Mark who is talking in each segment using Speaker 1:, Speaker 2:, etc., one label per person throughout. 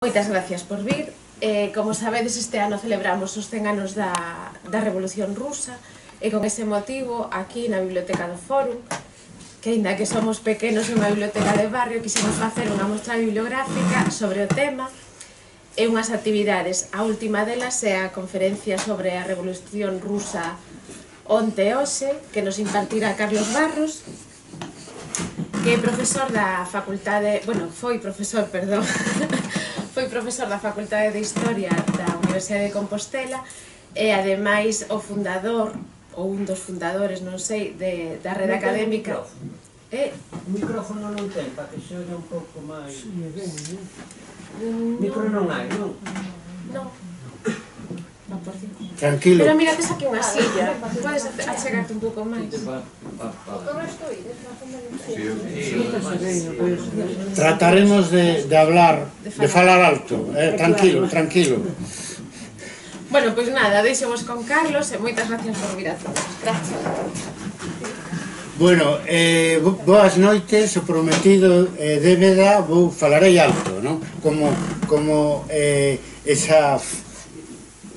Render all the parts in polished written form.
Speaker 1: Moitas gracias por vir. Como sabedes, este ano celebramos os 100 anos da Revolución Rusa e con ese motivo, aquí na Biblioteca do Fórum, que aínda que somos pequenos en unha biblioteca de barrio, quixemos facer unha mostra bibliográfica sobre o tema e unhas actividades. A última delas é a conferencia sobre a Revolución Rusa onte e hoxe, que nos impartirá Carlos Barros, que é profesor da facultade, foi profesor da Facultade de Historia da Universidade de Compostela e ademais o fundador, ou un dos fundadores, non sei, da rede académica.
Speaker 2: O micrófono non ten, para que se oye un pouco máis... Micro non hai, non?
Speaker 1: Non.
Speaker 3: Tranquilo.
Speaker 1: Pero mira, tes aquí unha silla, podes achegarte un pouco máis.
Speaker 3: Trataremos de hablar, de falar alto, tranquilo, tranquilo.
Speaker 1: Bueno, pois nada, deixemos con Carlos e moitas gracias por vir a todos. Gracias.
Speaker 3: Bueno, boas noites, o prometido débeda, falarei alto, non? Como esa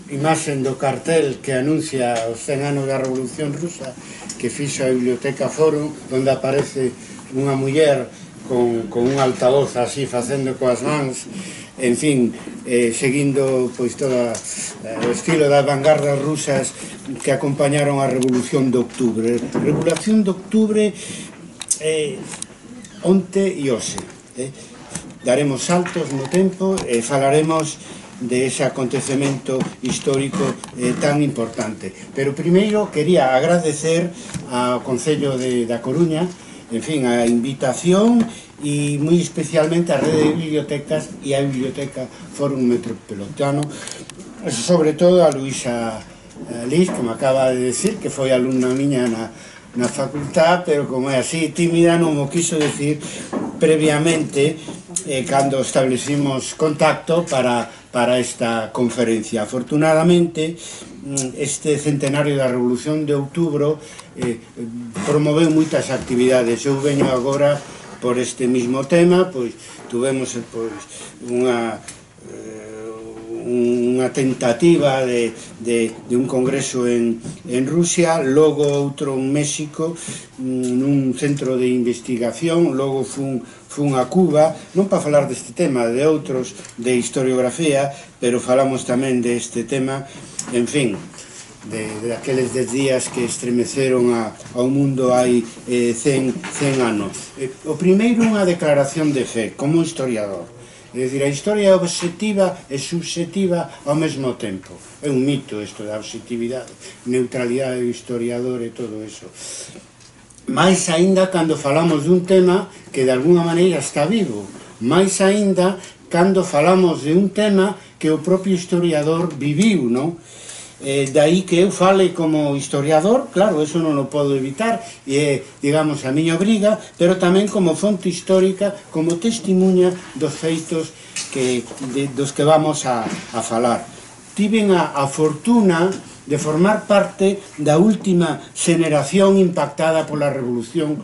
Speaker 3: imaxen do cartel que anuncia os 100 anos da Revolución Rusa que fixo a Biblioteca Fórum, onde aparece unha muller con un altavoz así facendo coas mans, en fin, seguindo pois todo o estilo das vanguardas rusas que acompañaron a Revolución de Octubre. Revolución de Octubre onte e hoxe. Daremos saltos no tempo e falaremos de ese acontecemento histórico tan importante. Pero primeiro quería agradecer ao Concello da Coruña, en fin, a invitación e moi especialmente a rede de bibliotecas e a Biblioteca Fórum Metropolitano, sobre todo a Luisa Liz, que me acaba de decir que foi alumna miña na facultad, pero como é así tímida non mo quiso decir previamente cando establecimos contacto para esta conferencia. Afortunadamente, este centenario da Revolución de Outubro promoveu moitas actividades. Eu veño agora por este mismo tema, pois tuvemos unha tentativa de un congreso en Rusia, logo outro en México, nun centro de investigación, logo fun a Cuba, non para falar deste tema, de outros de historiografía, pero falamos tamén deste tema, en fin, de aqueles 10 días que estremeceron ao mundo hai 100 anos. O primeiro, unha declaración de fe, como historiador. É dicir, a historia é obxectiva e subxectiva ao mesmo tempo. É un mito isto da obxectividade, neutralidade do historiador e todo eso. Mais aínda cando falamos dun tema que de alguna maneira está vivo. Mais aínda cando falamos de un tema que o propio historiador viviu, non? Daí que eu fale como historiador, claro, eso non o podo evitar, e é, digamos, a miña obriga, pero tamén como fonte histórica, como testimuña dos feitos dos que vamos a falar. Tiven a fortuna de formar parte da última xeneración impactada pola Revolución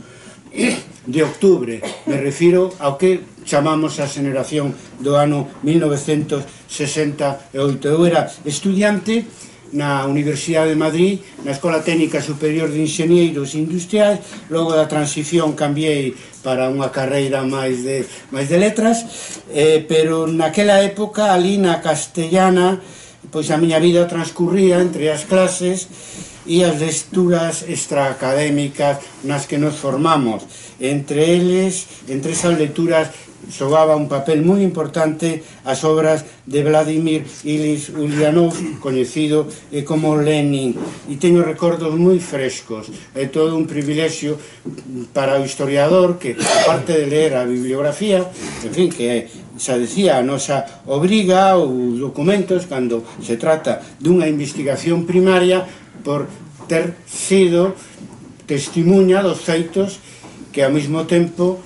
Speaker 3: de Octubre. Me refiro ao que chamamos a xeneración do ano 1968. Eu era estudiante na Universidade de Madrid, na Escola Técnica Superior de Inxenieros Industriais, logo da transición cambiei para unha carreira máis de letras, pero naquela época, ali na Castellana, pois a miña vida transcurría entre as clases e as lecturas extraacadémicas nas que nos formamos. Entre esas lecturas xogaba un papel moi importante as obras de Vladimir Ilich Ulyanov, coñecido como Lenin, e teño recordos moi frescos. É todo un privilexio para o historiador que, aparte de ler a bibliografía, en fin, que xa decía, a nosa obriga ou documentos cando se trata dunha investigación primaria, por ter sido testimuña dos feitos que ao mesmo tempo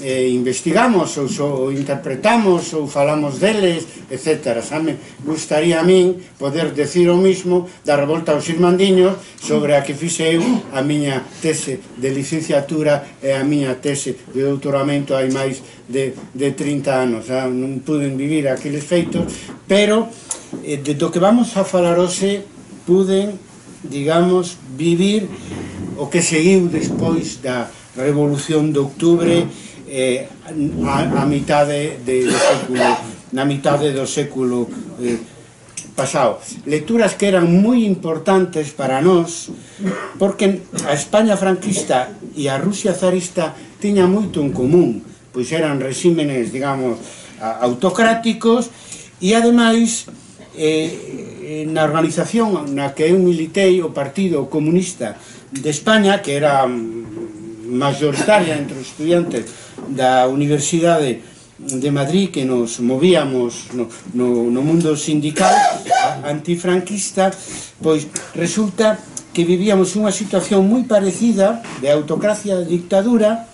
Speaker 3: investigamos ou interpretamos ou falamos deles, etc. Xa me gustaría a min poder decir o mismo da revolta aos irmandiños, sobre a que fixe eu a miña tese de licenciatura e a miña tese de doutoramento hai máis de 30 anos. Non puden vivir aqueles feitos, pero do que vamos a falar hoxe puden, digamos, vivir o que seguiu despois da Revolución de Octubre, a mitade do século, na mitade do século pasado. Lecturas que eran moi importantes para nós, porque a España franquista e a Rusia zarista tiña moito en común, pois eran regímenes, digamos, autocráticos, e ademais na organización na que eu militei, o Partido Comunista de España, que era mayoritaria entre os estudiantes da Universidade de Madrid, que nos movíamos no mundo sindical antifranquista, pois resulta que vivíamos unha situación moi parecida de autocracia e dictadura,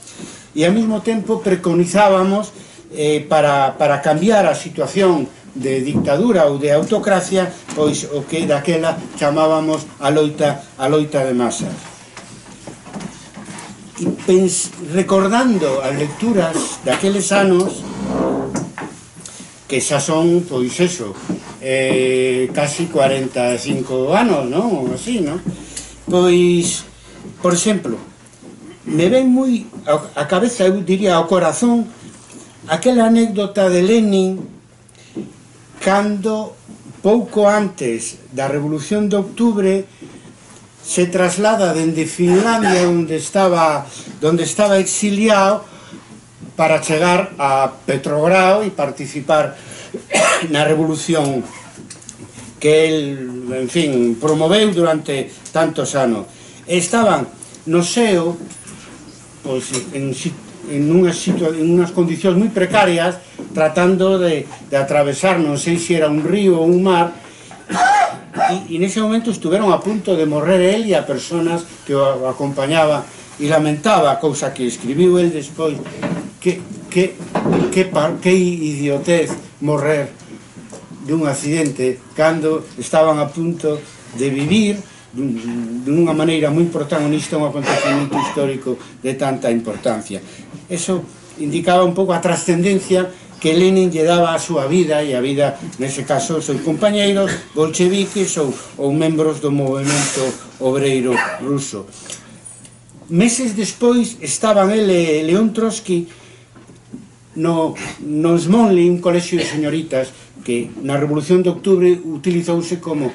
Speaker 3: e ao mesmo tempo preconizábamos para cambiar a situación de dictadura ou de autocracia, pois o que daquela chamábamos a loita de masas. Recordando as lecturas daqueles anos, que xa son, pois eso, casi 45 anos, non? Ou así, non? Pois, por exemplo, me ven moi a cabeza, eu diría, ao corazón, aquela anécdota de Lenin, cando, pouco antes da Revolución de Octubre, se traslada dende Finlandia, onde estaba exiliado, para chegar a Petrogrado e participar na revolución que el, en fin, promoveu durante tantos anos. Estaban no SEO, pois, en unhas condicións moi precarias, tratando de atravesar, non sei se era un río ou un mar, e nese momento estuveron a punto de morrer el e a personas que o acompañaban, e lamentaba a cousa que escribiu el despois, que idiotez morrer dun accidente cando estaban a punto de vivir dunha maneira moi protagonista un acontecemento histórico de tanta importancia. Eso indicaba un pouco a trascendencia que Lenin lle daba a súa vida, e a vida, nese caso, seus compañeiros bolcheviques ou membros do movimento obreiro ruso. Meses despois estaban ele e León Trotsky no Smolny, un colexio de señoritas que na Revolución de Octubre utilizouse como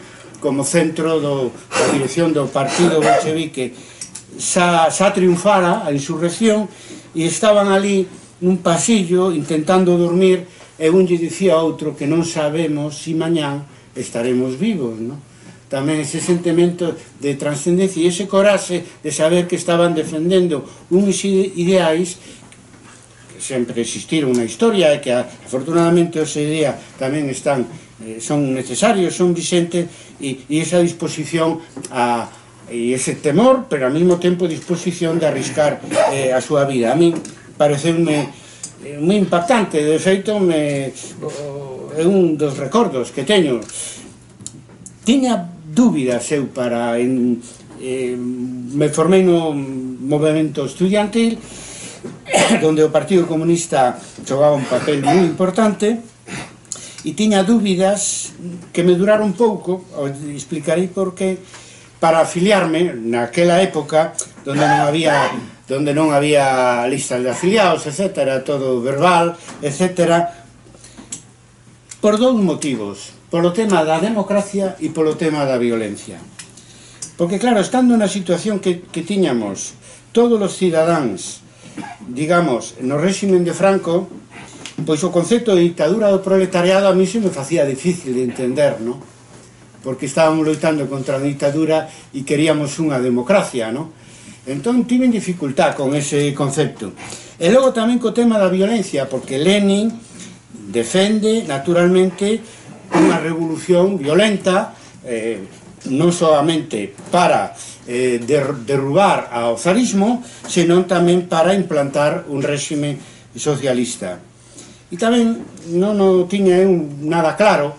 Speaker 3: centro da dirección do partido bolchevique. Xa triunfara a insurrección e estaban ali nun pasillo intentando dormir, e un lle dicía a outro que non sabemos se mañán estaremos vivos, non? Tamén ese sentimento de trascendencia e ese coraxe de saber que estaban defendendo uns ideais que sempre existiron na historia e que afortunadamente hoxe día tamén son necesarios, son vixentes, e esa disposición e ese temor, pero ao mesmo tempo disposición de arriscar a súa vida. A mí pareceume moi impactante, de feito é un dos recordos que teño. Tiña dúbidas eu me formei no movimento estudiantil, onde o Partido Comunista xogaba un papel moi importante, e tiña dúbidas que me duraron pouco, explicarei por qué, para afiliarme naquela época donde non había listas de afiliados, etc., todo verbal, etc., por dous motivos: polo tema da democracia e polo tema da violencia. Porque, claro, estando na situación que tiñamos todos os cidadáns, digamos, no réximen de Franco, pois o concepto de dictadura do proletariado a mí se me facía difícil de entender, non? Porque estábamos loitando contra a dictadura e queríamos unha democracia, non? Entón tiven dificultad con ese concepto. E logo tamén co tema da violencia, porque Lenin defende, naturalmente, unha revolución violenta, non solamente para derrubar ao zarismo, senón tamén para implantar un réxime socialista. E tamén non o tiña eu nada claro,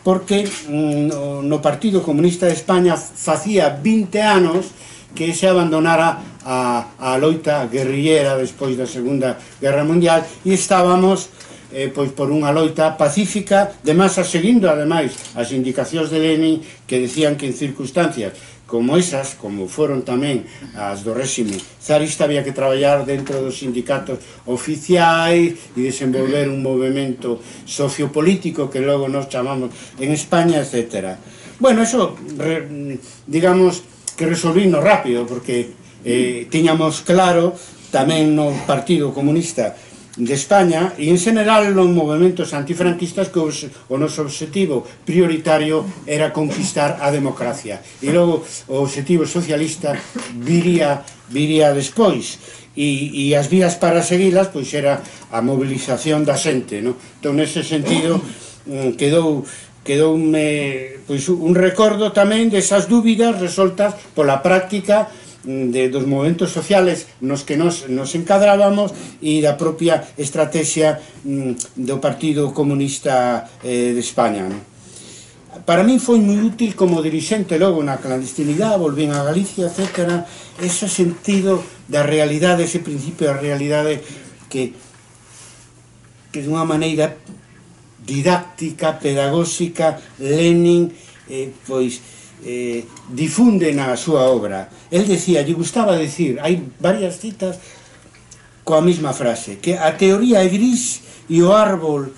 Speaker 3: porque no Partido Comunista de España facía 20 anos que se abandonara a loita guerrillera despois da Segunda Guerra Mundial e estábamos pois por unha loita pacífica de masa, seguindo ademais as indicacións de Lenin, que decían que en circunstancias como esas, como foron tamén as do réxime zarista, había que traballar dentro dos sindicatos oficiais e desenvolver un movimento sociopolítico que logo nos chamamos en España, etc. Bueno, eso, digamos que resolvino rápido, porque tiñamos claro tamén no Partido Comunista de España e en general nos movimentos antifranquistas que o noso objetivo prioritario era conquistar a democracia e logo o objetivo socialista viría despois e as vías para seguilas pois era a movilización da xente, no? Entón nese sentido quedoume pois un recordo tamén desas dúbidas resoltas pola práctica dos movimentos sociales nos que nos encadrábamos e da propia estrategia do Partido Comunista de España. Para min foi moi útil como dirixente logo na clandestinidade, volvín a Galicia, etc. Ese sentido da realidade, ese principio da realidade que dunha maneira didáctica, pedagóxica, Lenin difunde na súa obra. El decía, lle gustaba decir, hai varias citas coa mesma frase, que a teoría é gris e o árbol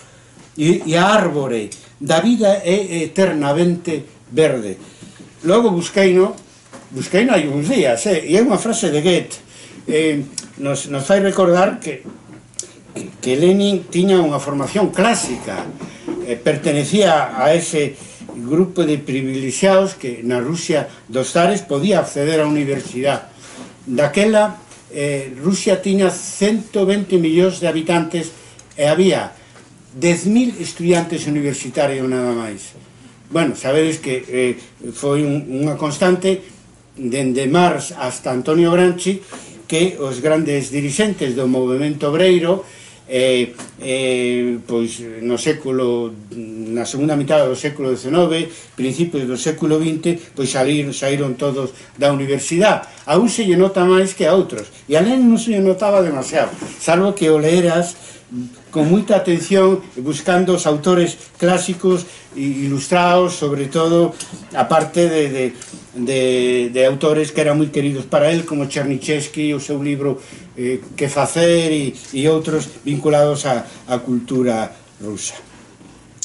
Speaker 3: e a árbore da vida é eternamente verde. Logo busqueino hai uns días, e é unha frase de Goethe, nos fai recordar que Lenin tiña unha formación clásica, pertenecía a ese grupo de privilexiados que na Rusia dos zares podía acceder á universidade. Daquela, Rusia tiña 120 millóns de habitantes e había 10.000 estudiantes universitarios nada máis. Bueno, sabedes que foi unha constante dende Marx hasta Antonio Gramsci, que os grandes dirixentes do movimento obreiro pois no século, na segunda mitad do século XIX, principios do século XX, pois saíron todos da universidade. A un se lle nota máis que a outros, e a Lenin non se lle notaba demasiado, salvo que o leeras con moita atención, buscando os autores clásicos ilustrados, sobre todo a parte de autores que eran moi queridos para él, como Chernyshevsky, o seu libro Que facer, e outros vinculados á cultura rusa.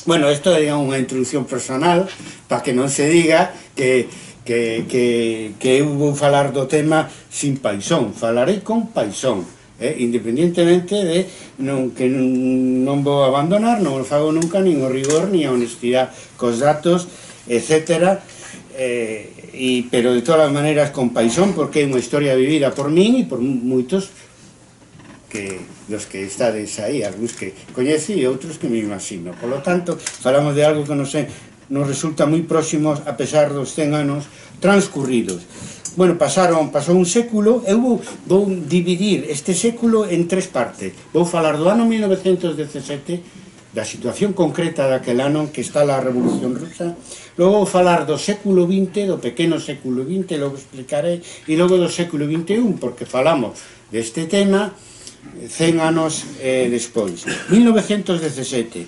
Speaker 3: Bueno, isto é unha introducción personal, para que non se diga que eu vou falar do tema sin paixón, falarei con paixón. Independientemente de que non vou abandonar, non o fago nunca, nin o rigor, nin a honestidade cos datos, etc. Pero de todas as maneiras con paixón, porque é unha historia vivida por min e por moitos dos que estades aí, algúns que coñece e outros que me imagino. Por lo tanto, falamos de algo que nos resulta moi próximo a pesar dos 100 anos transcurridos. Bueno, pasou un século, eu vou dividir este século en tres partes. Vou falar do ano 1917, da situación concreta daquel ano que está a Revolución Rusa, logo vou falar do século XX, do pequeno século XX, logo explicarei, e logo do século XXI, porque falamos deste tema 100 anos despois. 1917,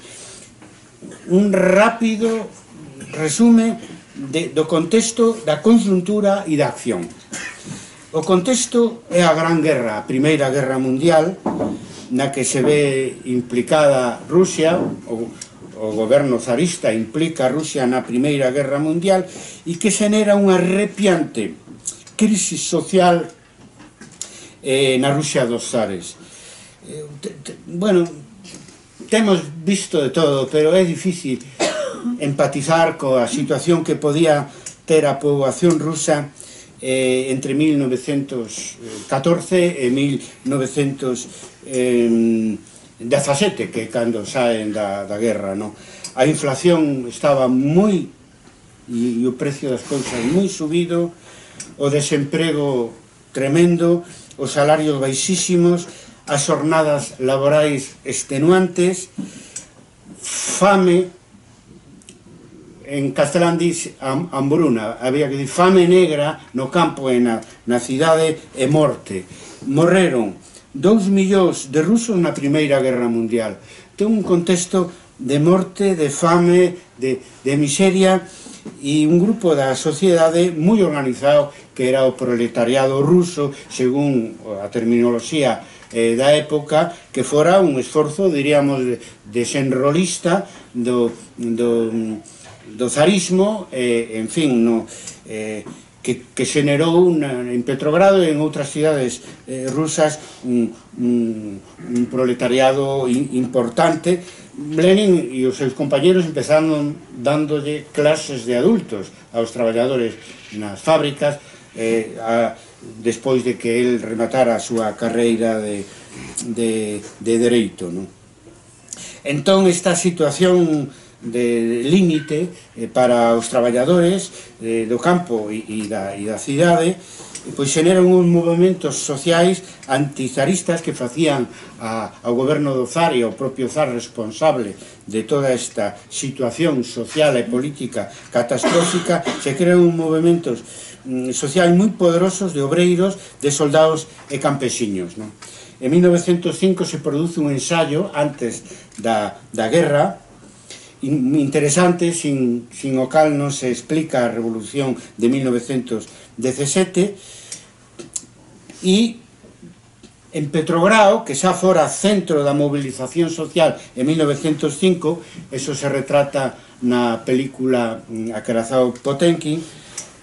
Speaker 3: un rápido resume do contexto da conxuntura e da acción. O contexto é a Gran Guerra, a Primeira Guerra Mundial, na que se ve implicada Rusia, o goberno zarista implica a Rusia na Primeira Guerra Mundial e que xenera unha arrepiante crisis social na Rusia dos zares. Bueno, temos visto de todo, pero é difícil empatizar coa situación que podía ter a poboación rusa entre 1914 e 1917, que é cando saen da guerra, no? A inflación estaba moi, e o precio das cousas moi subido, o desemprego tremendo, os salarios baixísimos, as xornadas laborais extenuantes, fame, en castelán dis hambruna, había que dir fame negra no campo e na cidade e morte. Morreron 2 millóns de rusos na Primeira Guerra Mundial. Ten un contexto de morte, de fame, de miseria, e un grupo da sociedade moi organizado que era o proletariado ruso, según a terminoloxía da época, que fora un esforzo, diríamos, desenrolista do zarismo, en fin, que xenerou en Petrogrado e en outras cidades rusas un proletariado importante. Lenin e os seus compañeros empezaron dándolle clases de adultos aos traballadores nas fábricas despois de que el rematara a súa carreira de dereito. Entón, esta situación de límite para os traballadores do campo e da cidade pois xeneran uns movimentos sociais antizaristas que facían ao goberno do zar e ao propio zar responsable de toda esta situación social e política catastrófica. Se crean uns movimentos sociais moi poderosos de obreiros, de soldados e campesiños. En 1905 se produce un ensayo antes da guerra interesante, sin o cal non se explica a revolución de 1917, e en Petrogrado, que xa fora centro da movilización social en 1905, eso se retrata na película Acorazado Potemkin,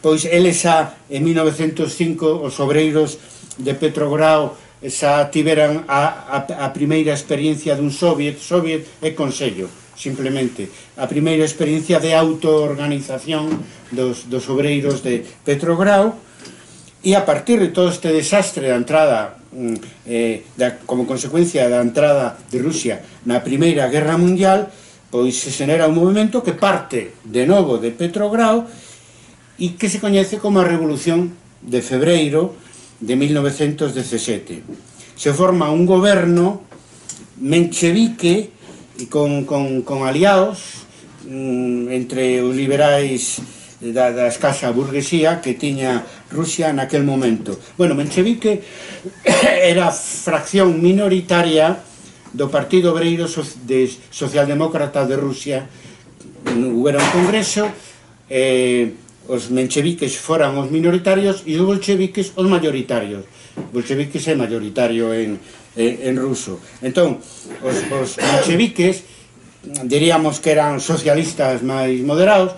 Speaker 3: pois eles xa en 1905 os obreiros de Petrogrado xa tiveran a primeira experiencia dun soviet e consello, simplemente a primeira experiencia de autoorganización dos obreiros de Petrogrado. E a partir de todo este desastre da entrada, como consecuencia da entrada de Rusia na Primeira Guerra Mundial, pois se xenera un movimento que parte de novo de Petrogrado e que se coñece como a Revolución de Febreiro de 1917. Se forma un goberno menchevique con aliados entre os liberais da escasa burguesía que tiña Rusia naquel momento. Bueno, menchevique era fracción minoritaria do Partido Obreiro Socialdemócrata de Rusia. Hubo un congreso, os mencheviques foran os minoritarios e os bolcheviques os mayoritarios. Bolcheviques é mayoritario en ruso. Entón, os mencheviques diríamos que eran socialistas máis moderados,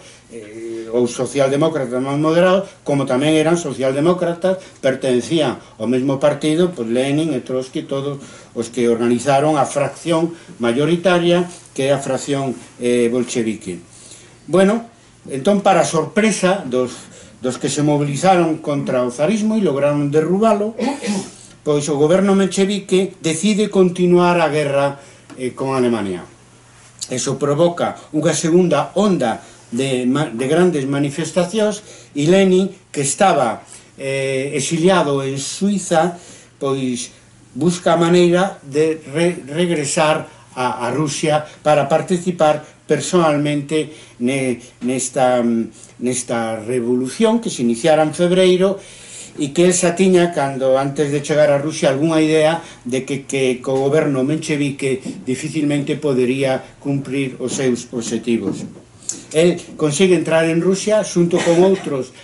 Speaker 3: ou socialdemócratas máis moderados, como tamén eran socialdemócratas, pertencían ao mesmo partido, pois Lenin e Trotsky, todos os que organizaron a fracción mayoritaria, que é a fracción bolchevique. Bueno, entón, para sorpresa dos que se movilizaron contra o zarismo e lograron derrubalo, pois o goberno menchevique decide continuar a guerra con Alemania. Eso provoca unha segunda onda de grandes manifestacións e Lenin, que estaba exiliado en Suiza, pois busca a maneira de regresar a Rusia para participar personalmente nesta revolución que se iniciara en febreiro e que el xa tiña, cando antes de chegar a Rusia, algunha idea de que o goberno menchevique dificilmente podería cumprir os seus obxectivos. El consigue entrar en Rusia xunto con outros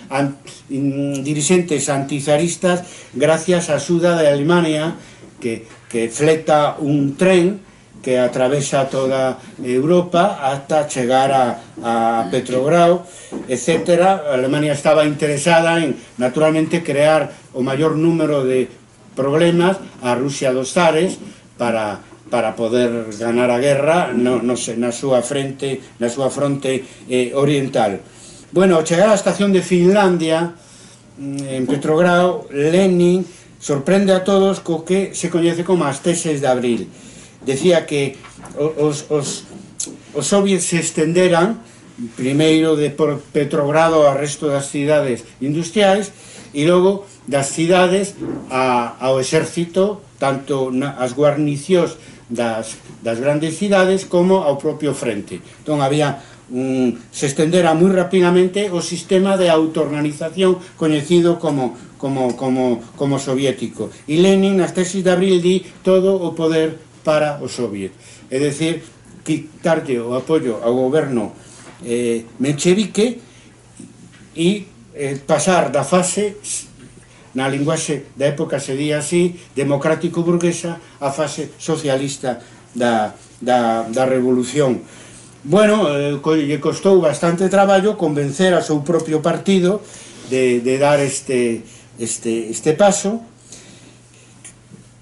Speaker 3: dirixentes antizaristas gracias á axuda de Alemania, que fleta un tren que atravesa toda Europa ata chegar a Petrogrado, etc. Alemania estaba interesada en, naturalmente, crear o maior número de problemas a Rusia dos zares para poder ganar a guerra na súa fronte oriental. Bueno, ao chegar á estación de Finlandia, en Petrogrado, Lenin sorprende a todos co que se coñece como as teses de abril. Decía que os soviets se estenderan primeiro de Petrogrado ao resto das cidades industriais e logo das cidades ao exército tanto as guarnicións das grandes cidades como ao propio frente. Entón había se estendera moi rapidamente o sistema de autoorganización coñecido como soviético. E Lenin, nas tesis de abril, di todo o poder para o soviet. É dicir, quitarlle o apoio ao goberno menchevique e pasar da fase, na linguaxe da época se di así, democrático-burguesa, a fase socialista da revolución. Bueno, lle costou bastante traballo convencer a seu propio partido de dar este paso,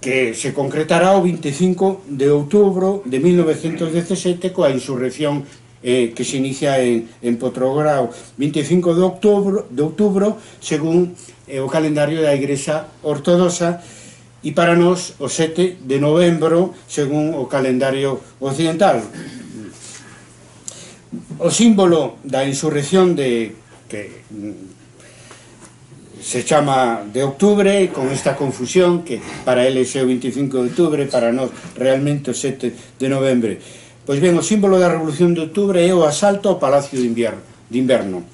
Speaker 3: que se concretará o 25 de outubro de 1917 coa insurrección que se inicia en Petrogrado, 25 de outubro, según o calendario da Igrexa Ortodoxa, e para nós o 7 de novembro, según o calendario occidental. O símbolo da insurrección que se chama de octubre, con esta confusión que para eles é o 25 de outubro, para nós realmente o 7 de novembro. Pois ben, o símbolo da Revolución de Outubro é o asalto ao Palacio de Inverno.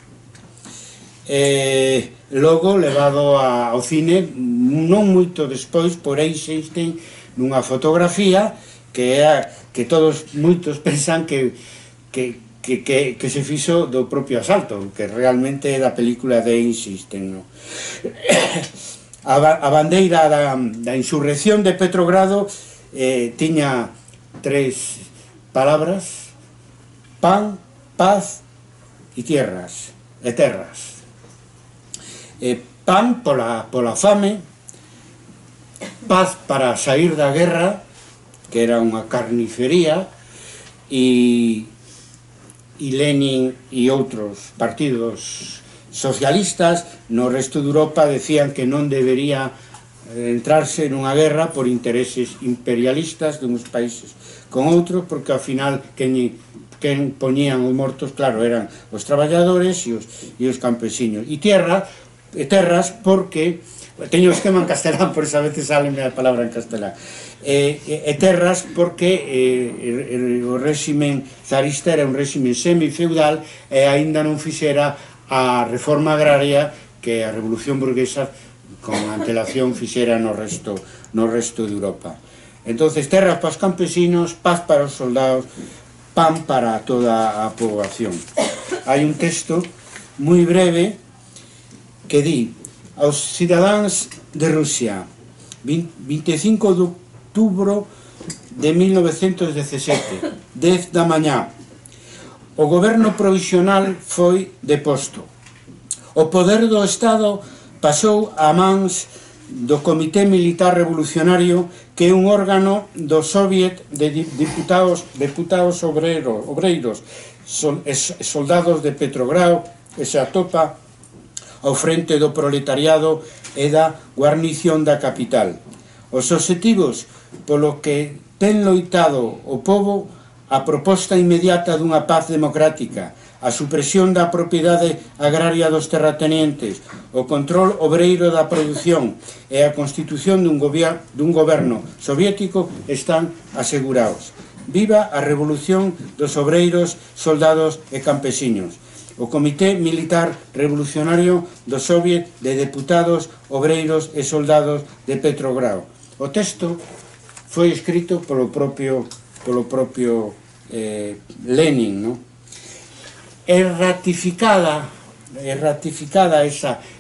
Speaker 3: Logo levado ao cine non moito despois por Eisenstein nunha fotografía que moitos pensan que se fixo do propio asalto, que realmente é da película de Eisenstein, no? A bandeira da insurrección de Petrogrado tiña 3 palabras: pan, paz e terras. Pan pola fame, paz para sair da guerra, que era unha carnicería, e Lenin e outros partidos socialistas no resto de Europa decían que non debería entrarse nunha guerra por intereses imperialistas dunhos países con outros, porque ao final quen poñían os mortos, claro, eran os traballadores e os campesiños. E terras porque teño o esquema en castelán, por eso a veces sale a palabra en castelán. Terras porque o réximen zarista era un réximen semifeudal e aínda non fixera a reforma agraria que a revolución burguesa con antelación fixera no resto de Europa. Entonces, terras para os campesinos, paz para os soldados, pan para toda a poboación. Hai un texto moi breve que di: aos cidadáns de Rusia, 25 de outubro de 1917, 10 da mañá, o goberno provisional foi deposto. O poder do Estado pasou a mans do Comité Militar Revolucionario, que é un órgano do Soviet de deputados obreiros, soldados de Petrogrado, que se atopa ao frente do proletariado e da guarnición da capital. Os obxectivos polo que ten loitado o pobo: a proposta inmediata dunha paz democrática, a supresión da propiedade agraria dos terratenientes, o control obreiro da produción e a constitución dun goberno soviético están asegurados. Viva a revolución dos obreiros, soldados e campesiños. O Comité Militar Revolucionario do Soviet de Deputados, Obreiros e Soldados de Petrogrado. O texto foi escrito polo propio Lenin, no? É ratificada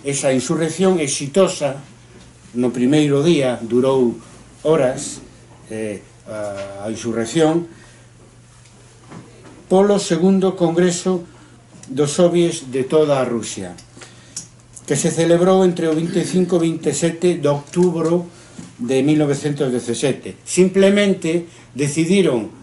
Speaker 3: esa insurrección exitosa no primeiro día, durou horas a insurrección, polo segundo congreso dos soviets de toda a Rusia, que se celebrou entre o 25 e 27 de outubro de 1917. Simplemente decidiron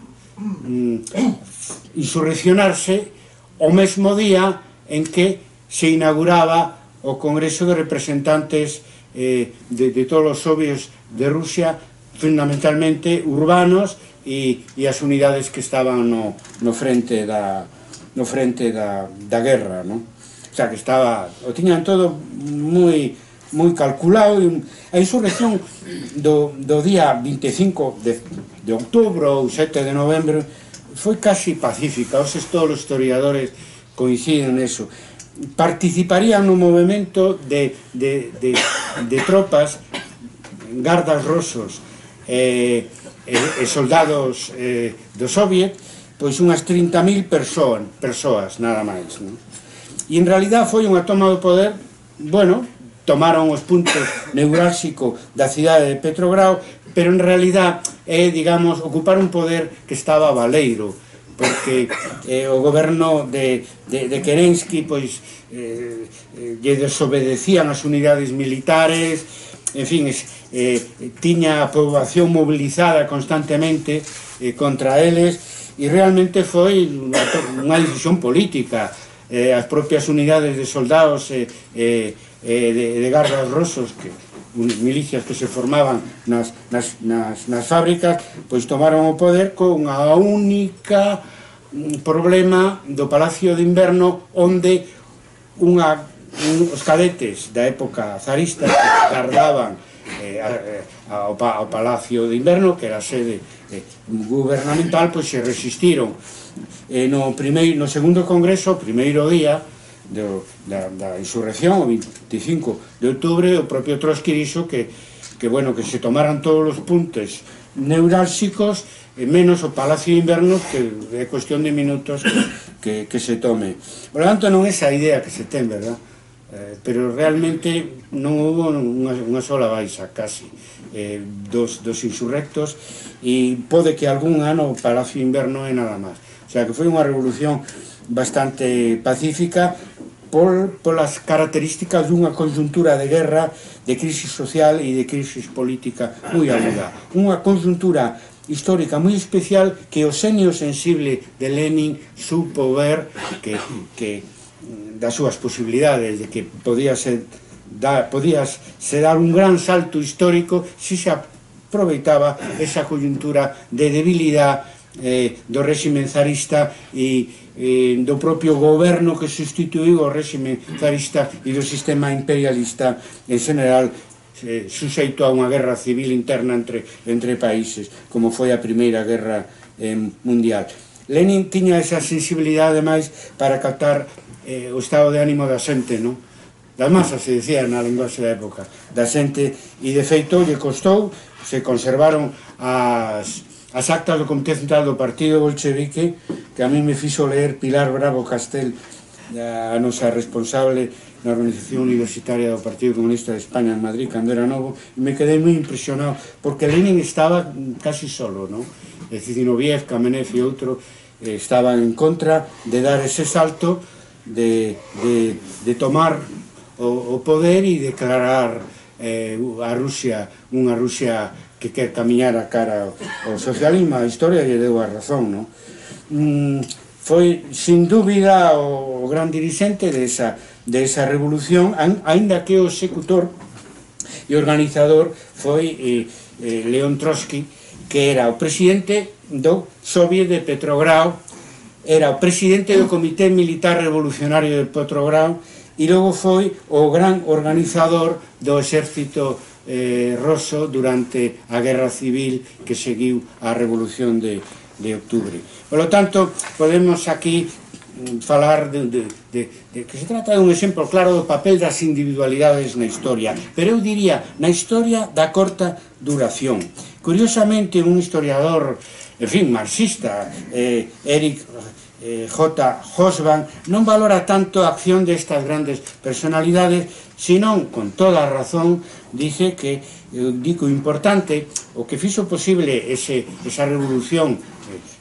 Speaker 3: insurreccionarse o mesmo día en que se inauguraba o Congreso de Representantes de todos os soviets de Rusia, fundamentalmente urbanos, e as unidades que estaban no frente da guerra, no? O sea, que o tiñan todo moi moi calculado. A insurrección do día 25 de outubro ou 7 de novembro foi casi pacífica, todos os historiadores coinciden neso. Participarían no movimento de tropas, gardas rosos e soldados do Soviet, pois unhas 30.000 persoas, nada máis, non? E en realidad foi unha toma do poder, bueno, tomaron os puntos neurálxicos da cidade de Petrogrado, pero en realidad é, digamos, ocupar un poder que estaba baleiro, porque o goberno de Kerensky pois lle desobedecían as unidades militares, en fin, tiña a poboación mobilizada constantemente contra eles, e realmente foi unha decisión política. As propias unidades de soldados de gardas rosos, milicias que se formaban nas fábricas, pois tomaron o poder con a única problema do Palacio de Inverno, onde os cadetes da época zarista que gardaban ao Palacio de Inverno, que era a sede gubernamental, pois se resistiron. No segundo congreso, o primeiro día da insurrección, o 25 de outubro, o propio Trotsky dixo que se tomaran todos os puntos neurálxicos, menos o Palacio de Inverno, que é cuestión de minutos que se tome. Por lo tanto, non é esa idea que se ten, verdad? Pero realmente non houve unha sola baixa, casi, dos insurrectos, e pode que algún ano o Palacio de Inverno é nada máis. O sea, que foi unha revolución bastante pacífica polas características dunha conjuntura de guerra, de crisis social e de crisis política moi aguda. Unha conjuntura histórica moi especial que o xenio sensible de Lenin supo ver que das súas posibilidades, de que podíase dar un gran salto histórico se se aproveitaba esa coyuntura de debilidade do réximen zarista e do propio goberno que sustituiu o réximen zarista e do sistema imperialista en general, suxeito a unha guerra civil interna entre países, como foi a Primeira Guerra Mundial. Lenin tiña esa sensibilidade máis para captar o estado de ánimo da xente, non? Das masas, se decía na linguaxe da época, da xente, e de feito lle costou, se conservaron as actas do Comité Central do Partido Bolchevique, que a mí me fixo ler Pilar Bravo Castel, a nosa responsable na organización universitaria do Partido Comunista de España en Madrid, cando era novo, e me quedei moi impresionado, porque Lenin estaba casi solo, non? Zinoviev, Kamenev e outro estaban en contra de dar ese salto, de tomar o poder e declarar a Rusia unha Rusia que quer camiñar a cara ao socialismo. A historia lle deu a razón, non? Foi, sin dúbida, o gran dirixente desa revolución, aínda que o executor e organizador foi León Trotsky, que era o presidente do Soviet de Petrogrado, era o presidente do Comité Militar Revolucionario de Petrogrado, e logo foi o gran organizador do exército ruso durante a guerra civil que seguiu a revolución de outubro. Por lo tanto, podemos aquí falar de que se trata de un exemplo claro do papel das individualidades na historia, pero eu diría na historia da corta duración. Curiosamente, un historiador, en fin, marxista, Eric J. Hobsbawm, non valora tanto a acción destas grandes personalidades, senón, con toda a razón, dice que o importante, o que fixo posible esa revolución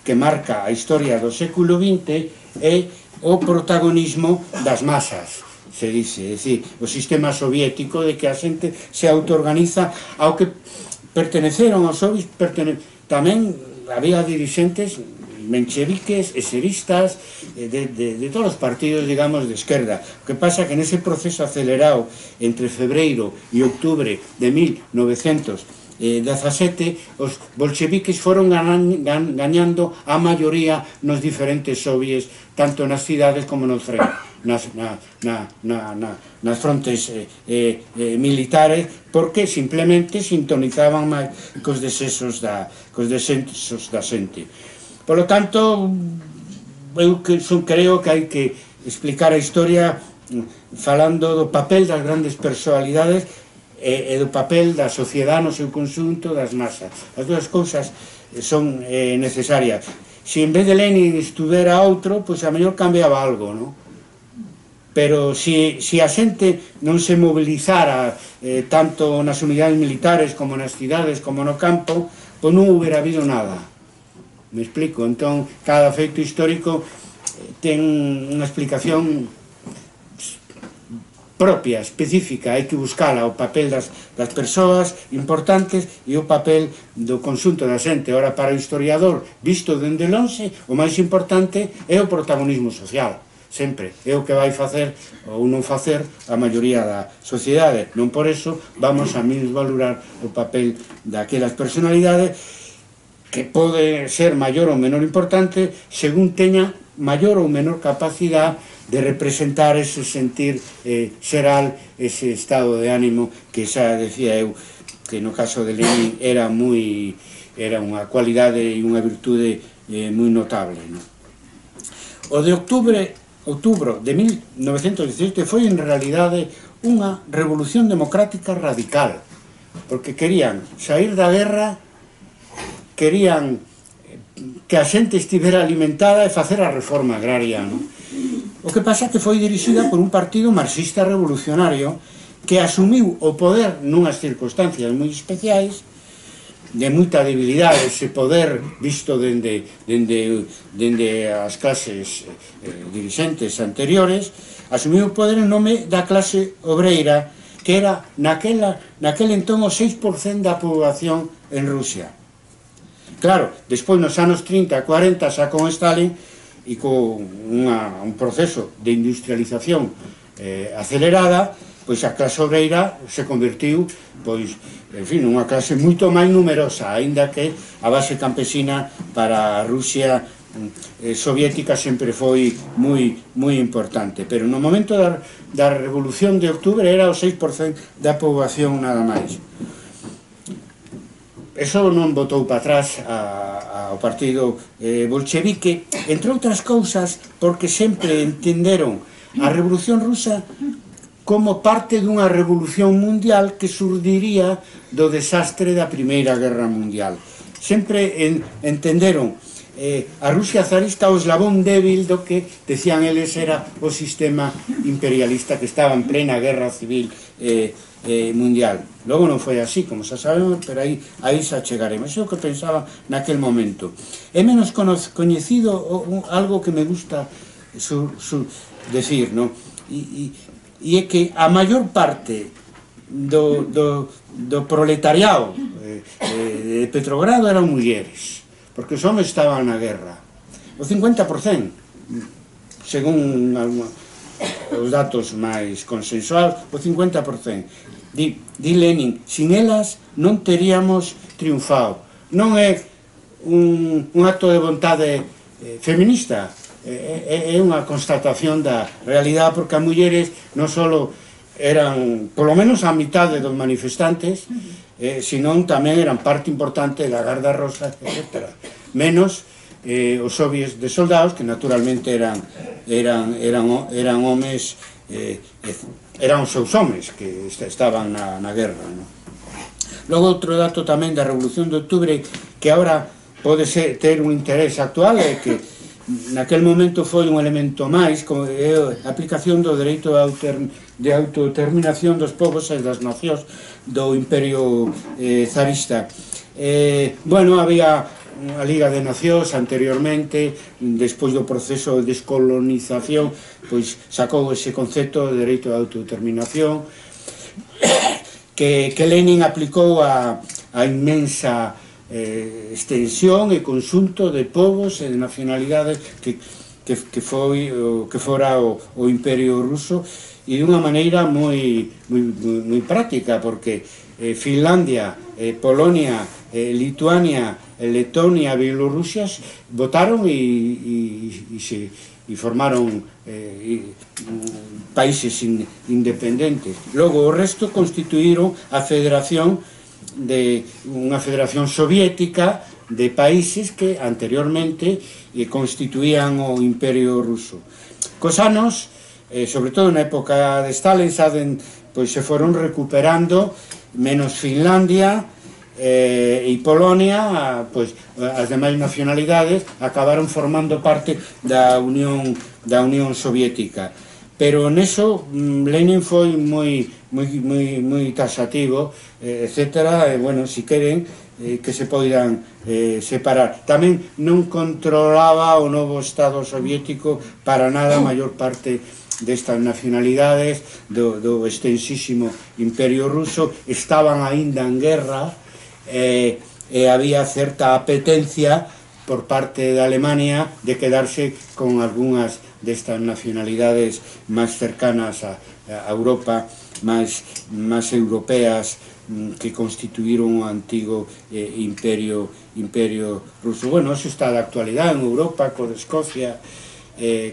Speaker 3: que marca a historia do século XX é o protagonismo das masas, se dice, é dicir, o sistema soviético de que a xente se autoorganiza, ao que perteneceron aos soviets, tamén había dirixentes mencheviques, eseristas, de todos os partidos, digamos, de esquerda. O que pasa que nese proceso acelerado entre febreiro e outubro de 1917, XVII, os bolcheviques foron gañando a maioría nos diferentes soviets, tanto nas cidades como nos nas frontes militares, porque simplemente sintonizaban máis cos desexos da xente. Por lo tanto, eu creo que hai que explicar a historia falando do papel das grandes personalidades e do papel da sociedade no seu conxunto, das masas. As dúas cousas son necesarias. Se en vez de Lenin estuvera outro, pois a mellor cambiaba algo, non? Pero se a xente non se mobilizara tanto nas unidades militares como nas cidades como no campo, pois non hubiera habido nada. Me explico? Entón, cada feito histórico ten unha explicación propia, específica, hai que buscala, o papel das persoas importantes e o papel do conxunto da xente. Ora, para o historiador, visto dende lonxe, o máis importante é o protagonismo social, sempre, é o que vai facer ou non facer a maioría da sociedade. Non por eso vamos a minusvalorar o papel daquelas personalidades que pode ser maior ou menor importante según teña maior ou menor capacidade de representar ese sentir xeral, ese estado de ánimo que xa decía eu que no caso de Lenin era unha cualidade e unha virtude moi notable, non? O de outubro de 1917 foi en realidade unha revolución democrática radical, porque querían sair da guerra, querían que a xente estivera alimentada e facer a reforma agraria, non? O que pasa que foi dirixida por un partido marxista revolucionario que asumiu o poder nunhas circunstancias moi especiais, de moita debilidade, ese poder visto dende as clases dirixentes anteriores, asumiu o poder en nome da clase obreira, que era naquel entón o 6% da poboación en Rusia. Claro, despois nos anos 30, 40, xa con Stalin e con un proceso de industrialización acelerada, pois a clase obreira se convertiu, pois, en fin, unha clase moito máis numerosa, aínda que a base campesina para a Rusia soviética sempre foi moi importante, pero no momento da Revolución de Octubre era o 6% da poboación nada máis. Eso non botou para atrás ao partido bolchevique, entre outras cousas porque sempre entenderon a Revolución Rusa como parte dunha revolución mundial que surdiría do desastre da Primeira Guerra Mundial. Sempre entenderon a Rusia zarista o eslabón débil do que, decían eles, era o sistema imperialista que estaba en plena guerra civil mundial. Logo non foi así, como xa sabemos, pero aí xa chegaremos. É o que pensaba naquel momento. É menos coñecido algo que me gusta decir, non? E é que a maior parte do proletariado de Petrogrado eran mulleres, porque os homens estaban na guerra. O 50%, según os datos máis consensuados, o 50%. Di Lenin, sin elas non teríamos triunfado. Non é un acto de vontade feminista, é unha constatación da realidade, porque as mulleres non só eran, polo menos a mitade dos manifestantes, senón tamén eran parte importante da Garda Rosa, etc. Menos os soviets de soldados, que naturalmente eran homes, eran os seus homes que estaban na guerra. Logo, outro dato tamén da Revolución de Octubre que agora pode ter un interés actual é que naquel momento foi un elemento máis, como a aplicación do dereito de autodeterminación dos povos e das nacións do Imperio zarista. Bueno, había a Liga de Nacións anteriormente, despois do proceso de descolonización, pois sacou ese concepto de dereito de autodeterminación que Lenin aplicou a inmensa extensión e conxunto de povos e de nacionalidades que fora o Imperio Ruso, e dunha maneira moi práctica, porque Finlandia, Polonia, Lituania, Letonia, Bielorrusia votaron e formaron países independentes. Logo o resto constituíron a federación unha federación soviética de países que anteriormente constituían o Imperio Ruso. Cos anos, sobre todo na época de Stalin, pois se foron recuperando, menos Finlandia e Polonia, pois as demais nacionalidades acabaron formando parte da Unión Soviética. Pero neso Lenin foi moi taxativo, etcétera, e, bueno, si queren que se poidan separar. Tamén non controlaba o novo Estado soviético para nada a maior parte destas nacionalidades do extensísimo Imperio Ruso. Estaban aínda en guerra e había certa apetencia por parte de Alemania de quedarse con algunhas destas nacionalidades máis cercanas a Europa, máis europeas, que constituíron o antigo Imperio Ruso. Bueno, eso está de actualidade en Europa, co de Escocia,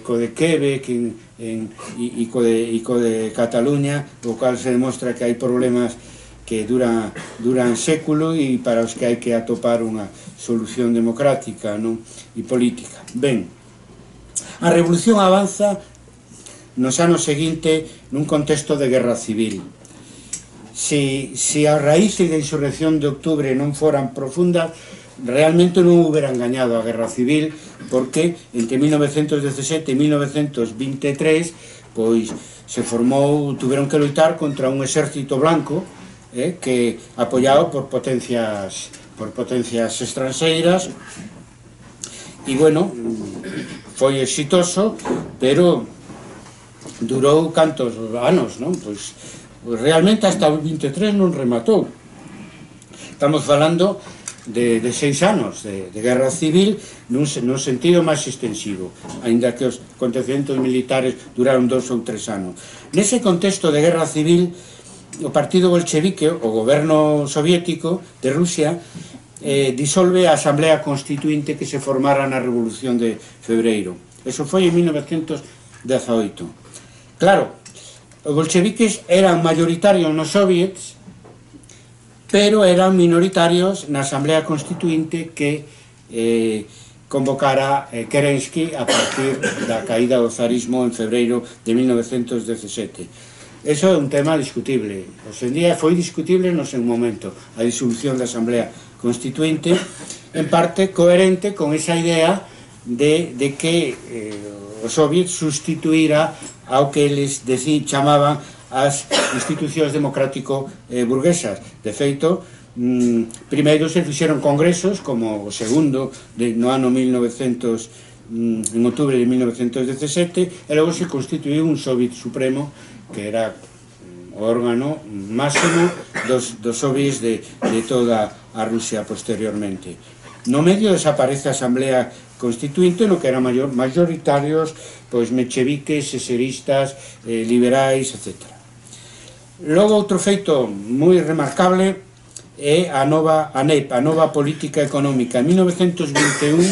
Speaker 3: co de Quebec e co de Cataluña, o cual se demostra que hai problemas que duran século e para os que hai que atopar unha solución democrática, non? E política. Ben, a revolución avanza nos anos seguintes nun contexto de guerra civil. Se as raíces da insurrección de outubro non foran profundas, realmente non houberan gañado a guerra civil, porque entre 1917 e 1923 pois se formou, tuveron que loitar contra un exército blanco que apoiado por potencias estranxeiras, e bueno, foi exitoso, pero durou cantos anos, non? Pois realmente hasta o 23 non rematou. Estamos falando de 6 anos de guerra civil nun sentido máis extensivo, aínda que os acontecementos militares duraron 2 ou 3 anos. Nese contexto de guerra civil, o partido bolchevique, o goberno soviético de Rusia, disolve a Asamblea Constituinte que se formara na Revolución de Febreiro. Eso foi en 1918. Claro, os bolcheviques eran mayoritarios nos soviets, pero eran minoritarios na Asamblea Constituinte que convocara Kerensky a partir da caída do zarismo en febreiro de 1917. Eso é un tema discutible. Hoxe en día foi discutible no seu momento a disolución da Asamblea Constituinte, en parte coherente con esa idea de que o Soviet sustituíra ao que eles chamaban as institucións democrático-burguesas. De feito, primeiro se fixeron congresos, como o segundo no ano 1900, en outubro de 1917, e logo se constituiu un Soviet Supremo, que era o órgano máximo dos soviets de toda a Rusia posteriormente. No medio desaparece a Asamblea Constituinte, no que eran mayoritarios pois mencheviques, eseristas, liberais, etc. Logo, outro feito moi remarcable é a nova política económica. En 1921,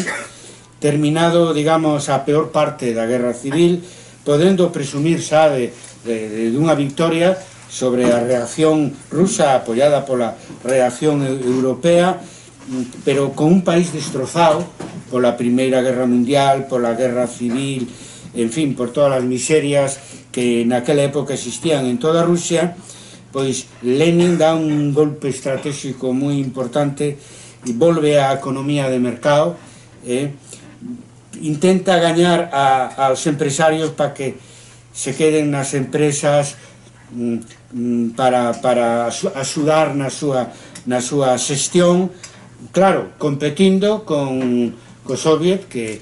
Speaker 3: terminado, digamos, a peor parte da guerra civil, podendo presumir xa dunha victoria sobre a reacción rusa apoiada pola reacción europea, pero con un país destrozado pola Primeira Guerra Mundial, pola Guerra Civil, en fin, por todas as miserias que naquela época existían en toda Rusia, pois Lenin dá un golpe estratégico moi importante e volve á economía de mercado, intenta gañar aos empresarios para que se queden nas empresas para axudar na súa xestión, claro, competindo co Soviet que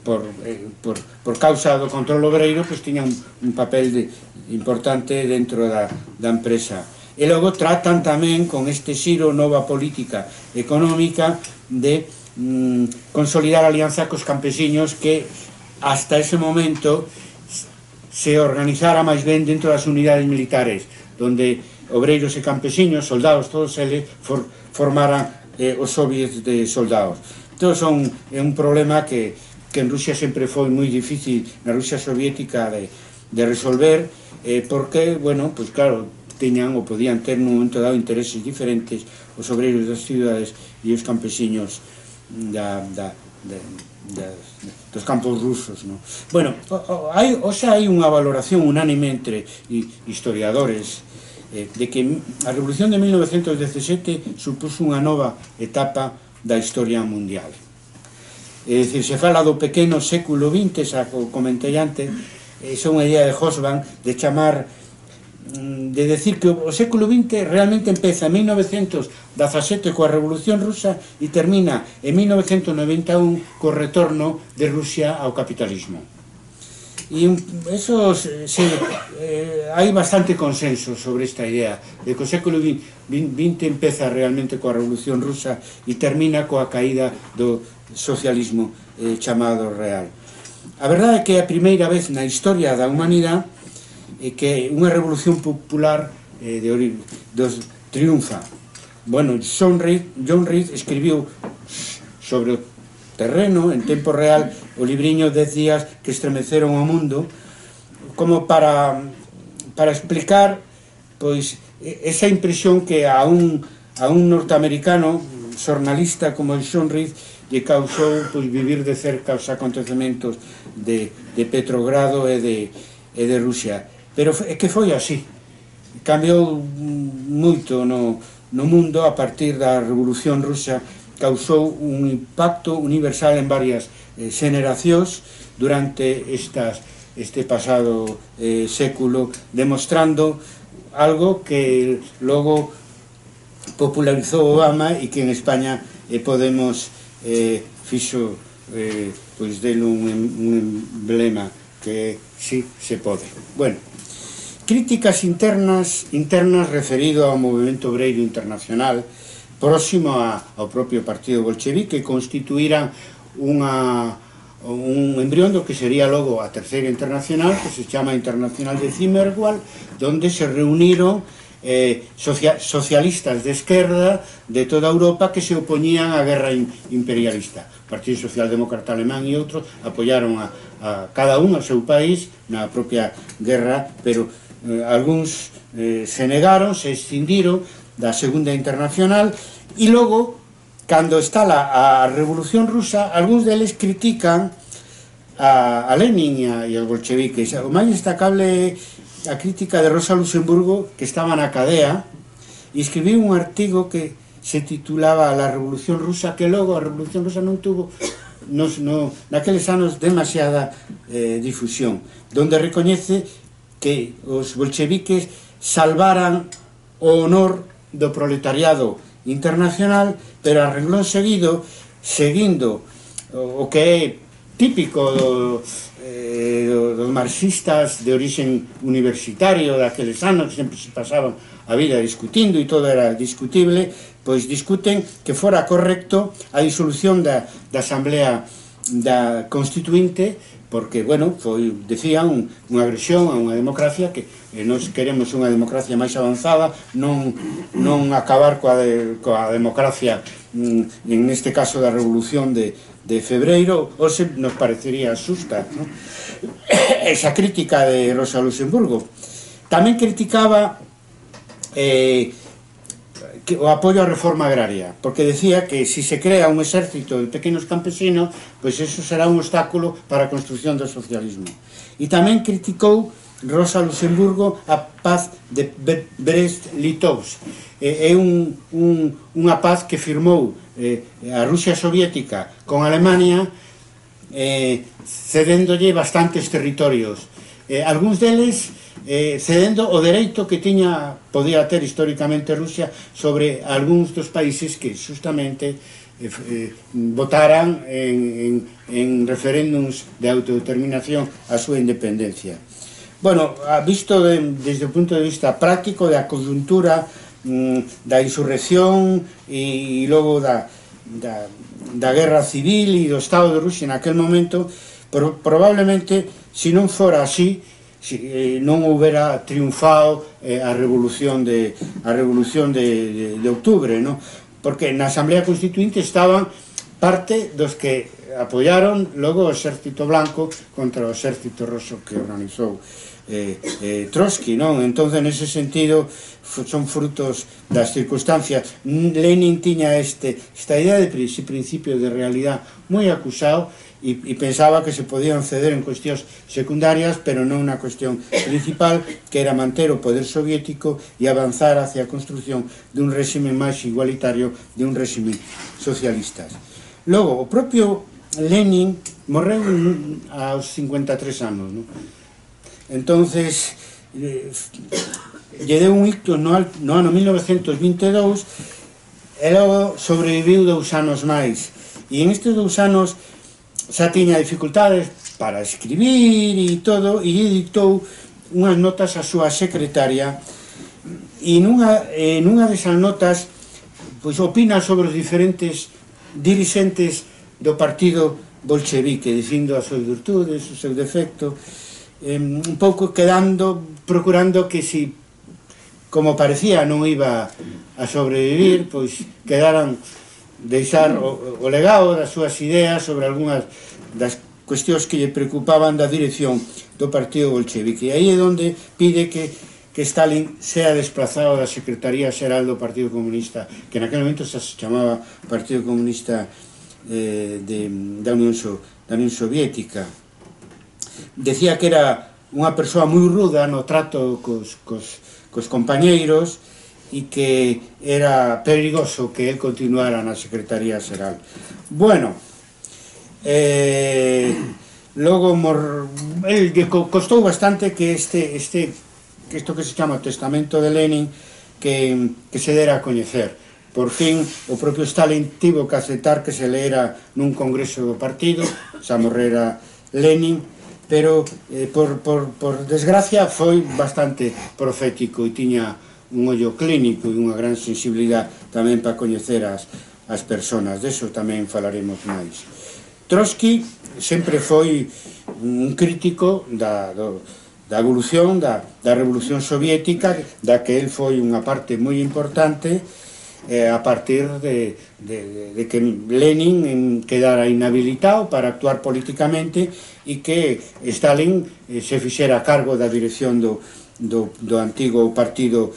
Speaker 3: por causa do control obreiro pois tiñan un papel importante dentro da empresa. E logo tratan tamén con este xiro nova política económica de consolidar a alianza cos campesiños que hasta ese momento se organizara máis ben dentro das unidades militares, donde obreiros e campesiños, soldados, todos eles formaran os soviets de soldados. Entón é un problema que en Rusia sempre foi moi difícil, na Rusia soviética, de resolver, porque, bueno, pois claro, teñan ou podían ter nun momento dado intereses diferentes os obreiros das cidades e os campesiños dos campos rusos, no? Bueno, hai unha valoración unánime entre historiadores de que a Revolución de 1917 supuso unha nova etapa da historia mundial. É dicir, se fala do pequeno século XX, xa comentei antes, é unha idea de Hobsbawm de chamar, de decir que o século XX realmente empeza en 1917 coa Revolución Rusa e termina en 1991 co retorno de Rusia ao capitalismo. E hai bastante consenso sobre esta idea de que o século XX empeza realmente coa Revolución Rusa e termina coa caída do socialismo chamado real. A verdade é que é a primeira vez na historia da humanidade que unha revolución popular triunfa. Bueno, John Reed escribiu sobre o terreno, en tempo real, o libriño 10 días que estremeceron o mundo, como para explicar pois esa impresión que a un norteamericano xornalista como John Reed lle causou pois vivir de cerca os acontecementos de Petrogrado e de Rusia. Pero é que foi así. Cambiou moito no mundo a partir da Revolución Rusa, causou un impacto universal en varias xeneracións durante este pasado século, demostrando algo que logo popularizou Obama e que en España Podemos fixo pois dele un emblema que sí se pode. Bueno, críticas internas referido ao movimento obreiro internacional próximo ao propio partido bolchevique, que constituíran un embrión do que sería logo a Terceira Internacional, que se chama Internacional de Zimmerwald, donde se reuniron socialistas de esquerda de toda Europa que se opoñían á guerra imperialista. O Partido Socialdemócrata Alemán e outros apoiaron a cada un ao seu país na propia guerra, pero algúns se negaron, se escindiron da Segunda Internacional, e logo, cando está a Revolución Rusa, algúns deles critican a Lenin e aos bolcheviques. O máis destacable é a crítica de Rosa Luxemburgo, que estaba na cadea, e escribiu un artigo que se titulaba La Revolución Rusa, que logo a Revolución Rusa non tuvo naqueles anos demasiada difusión, donde recoñece que os bolcheviques salvaran o honor do proletariado internacional, pero a renglón seguido, seguindo o que é típico dos marxistas de orixen universitario daqueles anos, que sempre se pasaban a vida discutindo e todo era discutible, pois discuten que fora correcto a disolución da Asamblea Constituinte, porque, bueno, foi, decían, unha agresión a unha democracia, que nós queremos unha democracia máis avanzada, non acabar coa democracia, en este caso da Revolución de Febreiro, ou se nos parecería xusta, ¿no? Esa crítica de Rosa Luxemburgo. Tamén criticaba o apoio á reforma agraria, porque decía que se crea un exército de pequenos campesinos, pois eso será un obstáculo para a construcción do socialismo. E tamén criticou Rosa Luxemburgo a paz de Brest-Litovsk. É unha paz que firmou a Rusia soviética con Alemania, cedéndolle bastantes territorios, algúns deles cedendo o dereito que podía ter históricamente Rusia sobre algúns dos países que justamente votaran en referéndums de autodeterminación a súa independencia. Bueno, visto desde o punto de vista práctico da coyuntura da insurrección e logo da guerra civil e do Estado de Rusia naquel momento, Probablemente, se non fora así, non houbera triunfado a revolución de outubro, non? Porque na Asamblea Constituinte estaban parte dos que apoyaron logo o Exército Blanco contra o Exército Roso que organizou Trotsky, non? Entón, nese sentido, son frutos das circunstancias. Lenin tiña esta idea de principio de realidad moi acusado e pensaba que se podían ceder en cuestións secundarias, pero non unha cuestión principal, que era manter o poder soviético e avanzar hacia a construción dun réxime máis igualitario, de un réxime socialista. Logo, o propio Lenin morreu aos 53 anos, non? Entonces, lle deu un ictus no ano 1922 e logo sobreviviu 2 anos máis. E en estes 2 anos xa tiña dificultades para escribir e todo, e dictou unhas notas a súa secretaria, e nunha desas notas pois opina sobre os diferentes dirixentes do partido bolchevique, dicindo as súas virtudes, o seu defecto, un pouco procurando que si, como parecía, non iba a sobrevivir, pois quedaran deixar o legado das súas ideas sobre algunhas das cuestións que lle preocupaban da dirección do partido bolchevique. E aí é onde pide que Stalin sea desplazado da Secretaría Xeral do Partido Comunista, que naquele momento se chamaba Partido Comunista da Unión Soviética. Decía que era unha persoa moi ruda no trato cos compañeiros e que era perigoso que él continuara na Secretaría Xeral. Bueno, logo el costou bastante que isto que se chama o Testamento de Lenin que se dera a coñecer. Por fin, o propio Stalin tivo que aceptar que se leera nun congreso do partido, xa morrera Lenin, pero por desgracia foi bastante profético e tiña un ollo clínico e unha gran sensibilidade tamén para coñecer as persoas. Deso tamén falaremos máis. Trotsky sempre foi un crítico da evolución da Revolución Soviética, da que el foi unha parte moi importante, a partir de que Lenin quedara inhabilitado para actuar políticamente e que Stalin se fixera a cargo da dirección do antigo partido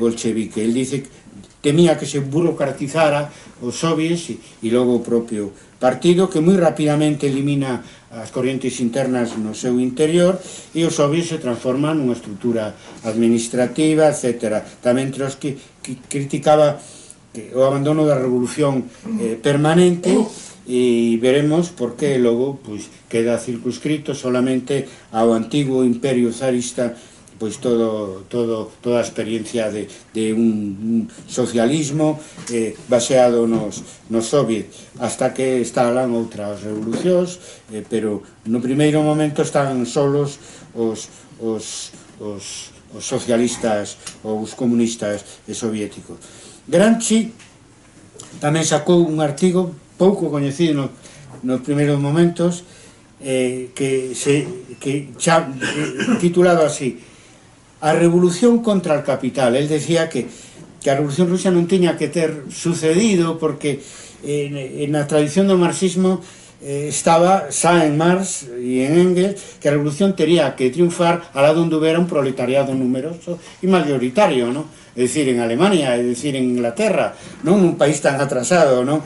Speaker 3: bolchevique. El dice que temía que se burocratizara os soviets e logo o propio partido, que moi rapidamente elimina as corrientes internas no seu interior e os soviets se transforman nunha estrutura administrativa, etc. Tamén Trotsky criticaba o abandono da revolución permanente, e veremos por que logo queda circunscrito solamente ao antigo imperio zarista, pois toda a experiencia de un socialismo baseado nos soviets, hasta que estalan outras revolucións, pero no primeiro momento están solos os socialistas ou os comunistas soviéticos. Gramsci tamén sacou un artigo pouco coñecido nos primeiros momentos, titulado así: A revolución contra el capital. El decía que a revolución rusa non tiña que ter sucedido porque na tradición do marxismo estaba xa en Marx e en Engels que a revolución tería que triunfar alá onde houbera un proletariado numeroso e mayoritario, non? É dicir, en Alemania, é dicir, en Inglaterra, non un país tan atrasado, non?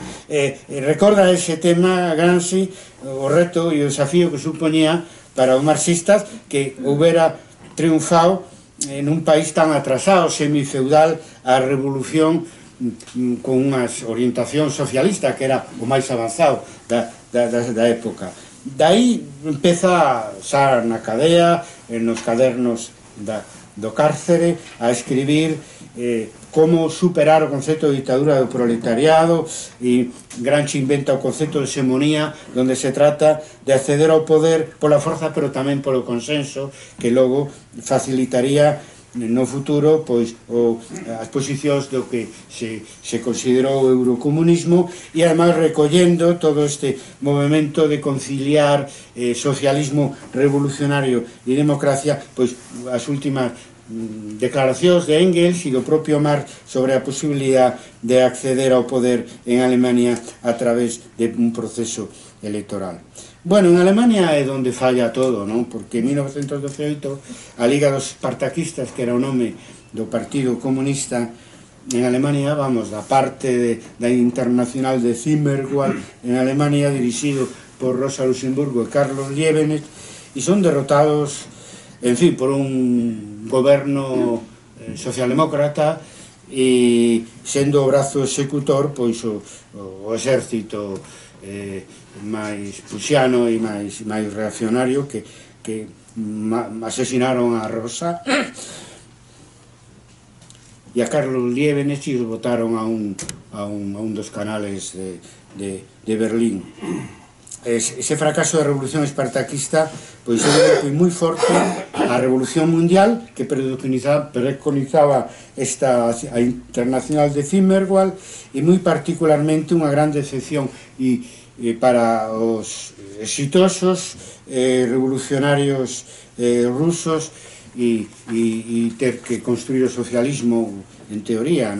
Speaker 3: Recorda ese tema Gramsci, o reto e o desafío que supoñía para os marxistas que houbera triunfado en un país tan atrasado, semifeudal, a revolución con unha orientación socialista que era o máis avanzado da época. Daí empeza xa na cadea, nos cadernos do cárcere, a escribir como superar o concepto de ditadura do proletariado, e Gramsci inventa o concepto de hegemonía, onde se trata de acceder ao poder pola forza, pero tamén polo consenso, que logo facilitaría no futuro pois as posicións do que se considerou o eurocomunismo, e además recollendo todo este movimento de conciliar socialismo revolucionario e democracia, pois as últimas declaracións de Engels e do propio Marx sobre a posibilidad de acceder ao poder en Alemania a través de un proceso electoral. Bueno, en Alemania é onde falla todo, non? Porque en 1918 a Liga dos Espartaquistas, que era o nome do Partido Comunista en Alemania, vamos, da parte da Internacional de Zimmerwald en Alemania, dirixido por Rosa Luxemburgo e Carlos Liebknecht, e son derrotados, en fin, por un goberno socialdemócrata, e sendo o brazo executor pois o exército máis prusiano e máis reaccionario que asesinaron a Rosa e a Carlos Liebknecht, e os botaron a un dos canales de Berlín. Ese fracaso da revolución espartaquista pois é un golpe moi forte á revolución mundial que preconizaba a Internacional de Zimmerwald, e moi particularmente unha gran decepción para os exitosos revolucionarios rusos e ter que construir o socialismo en teoría,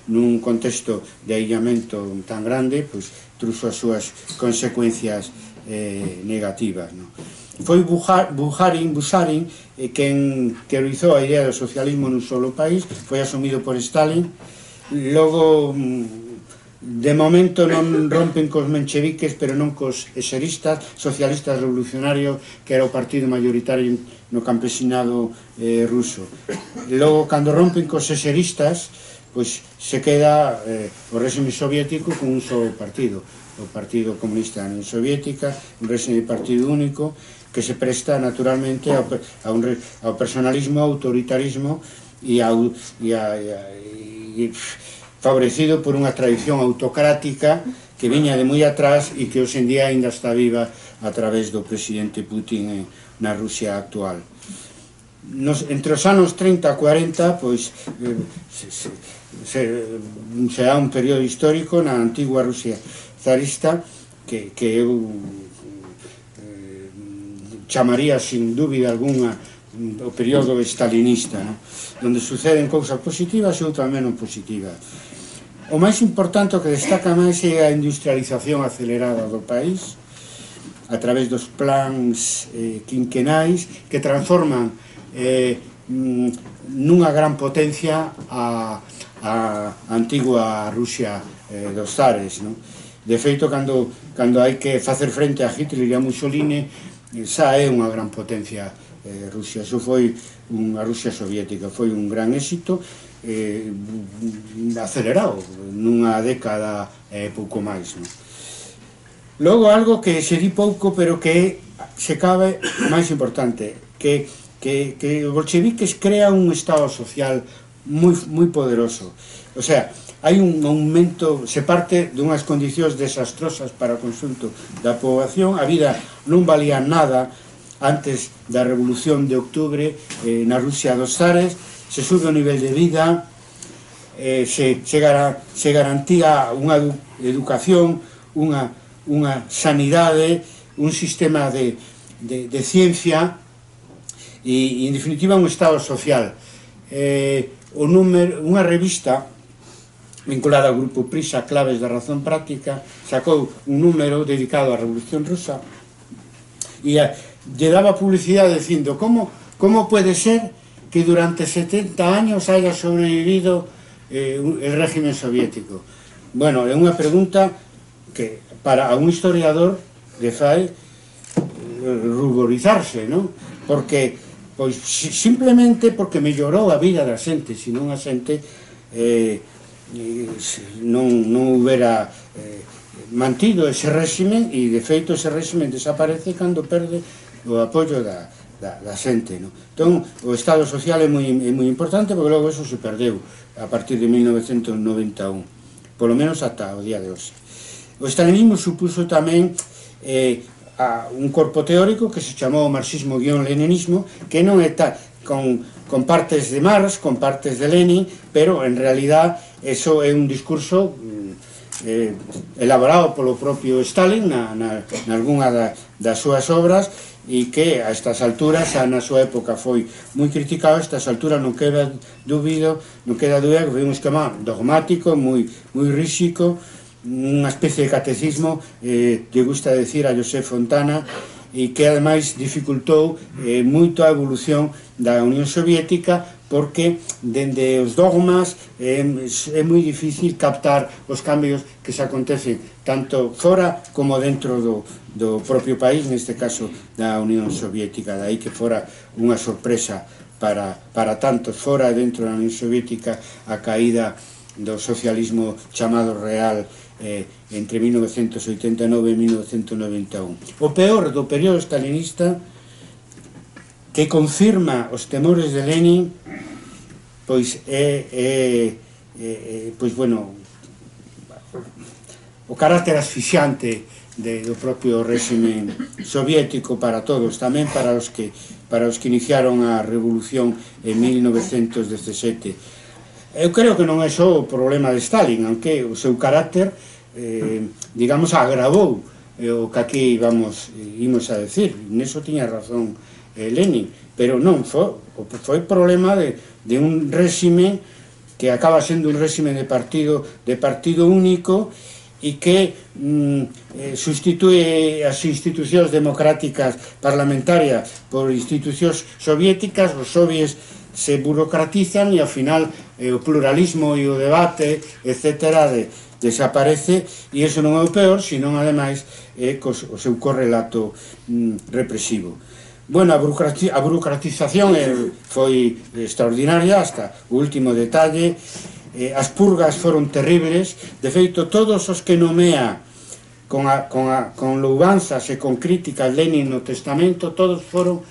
Speaker 3: nun contexto de aillamento tan grande, pois truxo as súas consecuencias negativas. Foi Bukharin quen teorizou a idea do socialismo nun solo país, foi asumido por Stalin. Logo, de momento non rompen cos mencheviques, pero non cos eseristas, socialistas revolucionarios, que era o partido mayoritario no campesinado ruso. Logo, cando rompen cos eseristas, pois se queda o réxime soviético con un só partido, o Partido Comunista da Unión Soviética, un réxime de partido único que se presta naturalmente ao personalismo, ao autoritarismo e favorecido por unha tradición autocrática que viña de moi atrás e que hoxe en día ainda está viva a través do presidente Putin na Rusia actual. Entre os anos 30 e 40 pois se dá un período histórico na antigua Rusia zarista que eu chamaría sin dúbida alguna o período stalinista, onde suceden cousas positivas e outras menos positivas. O máis importante, o que destaca máis, é a industrialización acelerada do país a través dos plans quinquenais que transforman nunha gran potencia a antigua Rusia dos zares. De feito, cando hai que facer frente a Hitler e a Mussolini, xa é unha gran potencia Rusia. Iso foi a Rusia soviética, foi un gran éxito acelerado nunha década e pouco máis. Logo, algo que se di pouco pero que se cabe máis importante, que os bolcheviques crean un estado social moi poderoso. O sea, hai un aumento, se parte dunhas condicións desastrosas para o conxunto da poboación. A vida non valía nada antes da Revolución de Octubre na Rusia dos zares, se sube o nivel de vida, se garantía unha educación, unha sanidade, un sistema de ciencia e, en definitiva, un estado social. Unha revista vinculada ao grupo Prisa, Claves da Razón Práctica, sacou un número dedicado á Revolución Rusa e lle daba publicidade dicindo como pode ser que durante 70 años haya sobrevivido el régimen soviético. Bueno, é unha pregunta que para un historiador le fai ruborizarse, non? Porque, pois, simplemente porque mellorou a vida da xente, senón a xente non houbera mantido ese réxime, e de feito ese réxime desaparece cando perde o apoio da xente. Entón, o estado social é moi importante, porque logo eso se perdeu a partir de 1991, polo menos ata o día de hoxe. O stalinismo supuso tamén un corpo teórico que se chamou marxismo-leninismo, que non é con partes de Marx, con partes de Lenin, pero en realidad eso é un discurso elaborado polo propio Stalin nalgúna das súas obras, e que a estas alturas, na súa época foi moi criticado. A estas alturas non queda dúbida que foi un esquema dogmático, moi ríxido, unha especie de catecismo, lle gusta decir a José Fontana, e que ademais dificultou moito a evolución da Unión Soviética, porque dende os dogmas é moi difícil captar os cambios que se acontecen tanto fora como dentro do propio país, neste caso da Unión Soviética. Daí que fora unha sorpresa para tantos fora e dentro da Unión Soviética a caída do socialismo chamado real entre 1989 e 1991. O peor do período stalinista, que confirma os temores de Lenin, pois o carácter asfixiante do propio réxime soviético para todos, tamén para os que iniciaron a revolución en 1917. Eu creo que non é só o problema de Stalin, aunque o seu carácter, digamos, agravou o que aquí imos a decir. Neso tiña razón Lenin, pero non foi problema de un réxime que acaba sendo un réxime de partido único, e que sustitue as institucións democráticas parlamentarias por institucións soviéticas. Os soviets se burocratizan e ao final o pluralismo e o debate, etcétera, desaparece, e iso non é o peor, senón ademais o seu correlato represivo. Bueno, a burocratización foi extraordinaria hasta o último detalle. As purgas foron terribles. De feito, todos os que nomea con louvanzas e con críticas Lenin no testamento, todos foron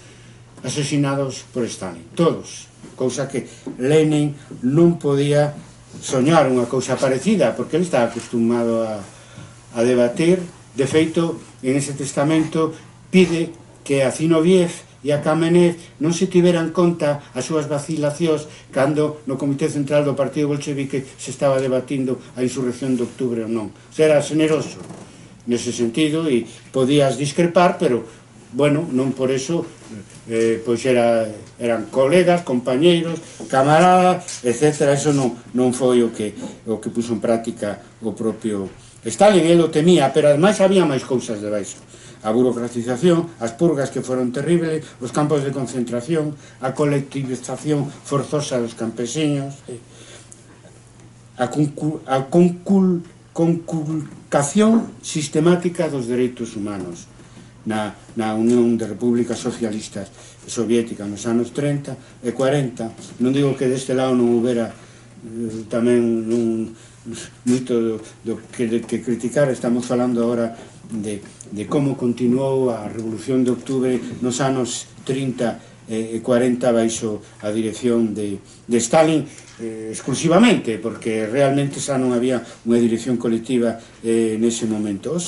Speaker 3: asesinados por Stalin, todos, cousa que Lenin non podía soñar unha cousa parecida, porque ele estaba acostumado a debatir. De feito, en ese testamento pide que a Zinoviev e a Kamenev non se tiveran conta as súas vacilacións cando no Comité Central do Partido Bolchevique se estaba debatindo a insurrección de octubre ou non. Era generoso nese sentido e podías discrepar, pero, bueno, non por eso, pois eran colegas, compañeiros, camaradas, etc. Eso non foi o que puso en práctica o propio Stalin. Ele o temía, pero ademais había máis cousas debaixo. A burocratización, as purgas que foron terribles, os campos de concentración, a colectivización forzosa dos campesiños, a conculcación sistemática dos dereitos humanos na Unión de Repúblicas Socialistas Soviéticas nos anos 30 e 40. Non digo que deste lado non houbera tamén moito do que criticar. Estamos falando agora de como continuou a Revolución de Octubre nos anos 30 e 40 baixo a dirección de Stalin exclusivamente, porque realmente xa non había unha dirección colectiva nese momento.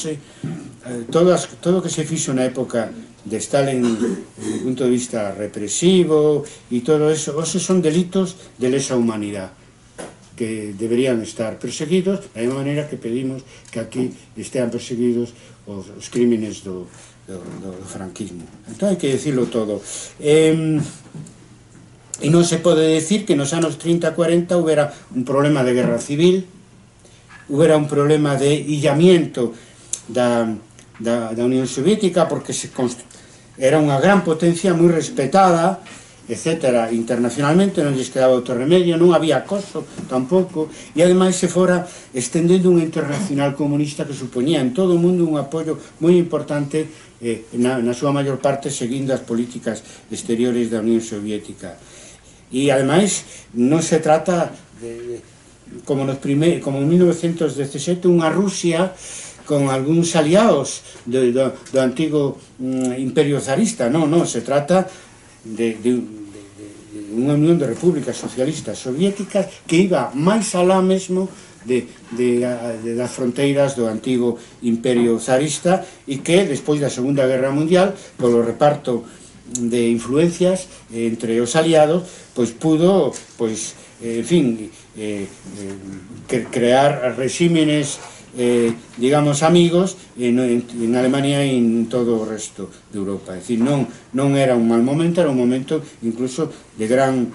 Speaker 3: Todo o que se fixo na época de Stalin desde o punto de vista represivo e todo eso, son delitos de lesa humanidade que deberían estar perseguidos, da mesma maneira que pedimos que aquí estean perseguidos os crímenes do franquismo. Entón hai que decirlo todo. E non se pode decir que nos anos 30-40 houbera un problema de guerra civil, houbera un problema de illamiento da Unión Soviética, porque era unha gran potencia moi respetada, etcétera, internacionalmente, non lles quedaba outro remedio, non había acoso tampouco, e ademais se fora estendendo unha internacional comunista que supoñía en todo o mundo un apoio moi importante, na súa maior parte seguindo as políticas exteriores da Unión Soviética. E ademais non se trata como en 1917 unha Rusia con algúns aliados do antigo imperio zarista. Non, se trata de unha unión de repúblicas socialistas soviéticas que iba máis alá mesmo das fronteiras do antigo imperio zarista, e que despois da Segunda Guerra Mundial, polo reparto influencias entre os aliados, pois pudo, pois, en fin, crear regímenes, digamos, amigos en Alemania e en todo o resto de Europa. É dicir, non era un mal momento, era un momento incluso de gran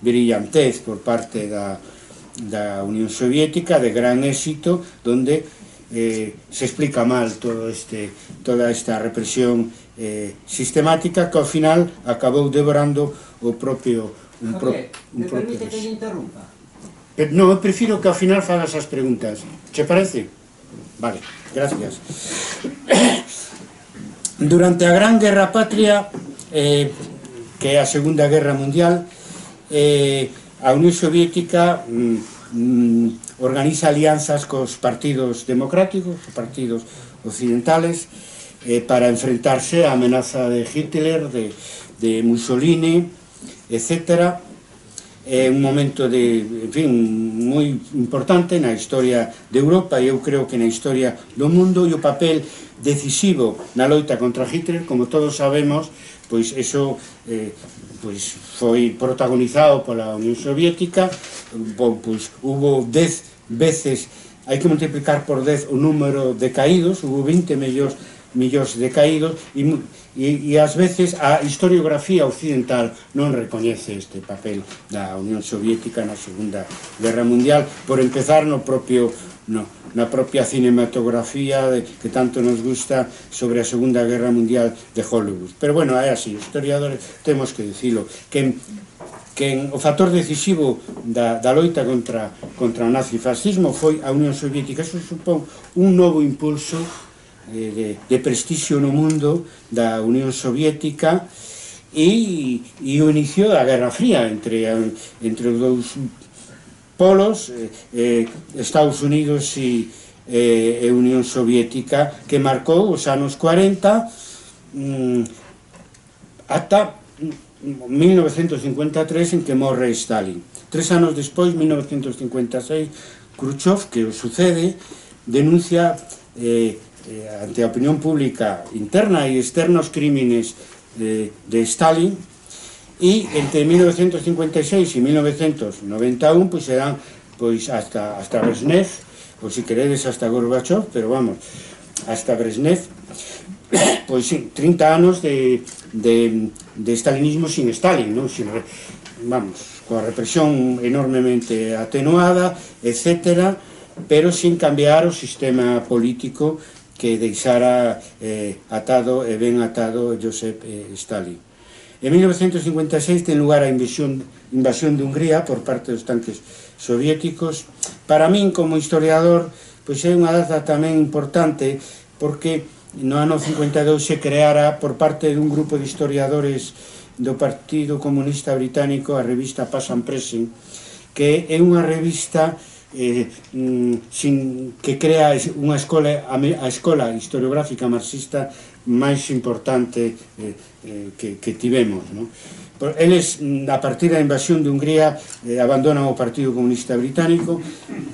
Speaker 3: brillantez por parte da Unión Soviética, de gran éxito, donde se explica mal toda esta represión sistemática que ao final acabou devorando o propio...
Speaker 2: Javier, me permite que lle interrumpa?
Speaker 3: Non, eu prefiro que ao final fagas as preguntas. Che parece? Vale, gracias. Durante a Gran Guerra Patria, que é a Segunda Guerra Mundial, a Unión Soviética organiza alianzas cos partidos democráticos, os partidos occidentales, para enfrentarse á amenaza de Hitler, de Mussolini, etc. É un momento en fin, moi importante na historia de Europa e eu creo que na historia do mundo, e o papel decisivo na loita contra Hitler, como todos sabemos, pois eso pois foi protagonizado pola Unión Soviética, pois hubo 10 veces, hai que multiplicar por 10 o número de caídos, hubo 20 millóns de caídos, e ás veces a historiografía occidental non recoñece este papel da Unión Soviética na Segunda Guerra Mundial, por empezar na propia cinematografía que tanto nos gusta sobre a Segunda Guerra Mundial de Hollywood. Pero bueno, é así, os historiadores temos que dicilo, que o factor decisivo da loita contra o nazifascismo foi a Unión Soviética. Eso supón un novo impulso de prestixio no mundo da Unión Soviética e o inicio da Guerra Fría entre os dous polos, Estados Unidos e Unión Soviética, que marcou os anos 40 ata 1953, en que morre Stalin. 3 anos despois, 1956, Khrushchev, que o sucede, denuncia ante a opinión pública interna e externa os crímenes de Stalin, e entre 1956 e 1991 pois serán hasta Brezhnev, ou se queredes hasta Gorbachev, pero vamos, hasta Brezhnev, pois 30 anos de stalinismo sin Stalin, vamos, coa represión enormemente atenuada, etc., pero sin cambiar o sistema político que deixara atado e ben atado Joseph Stalin. En 1956 ten lugar a invasión de Hungría por parte dos tanques soviéticos. Para min, como historiador, pois é unha data tamén importante, porque no ano 52 se creara por parte dun grupo de historiadores do Partido Comunista Británico a revista Pass and Present, que é unha revista que crea unha a escola historiográfica marxista máis importante que tivemos. Eles, a partir da invasión de Hungría, abandonan o Partido Comunista Británico,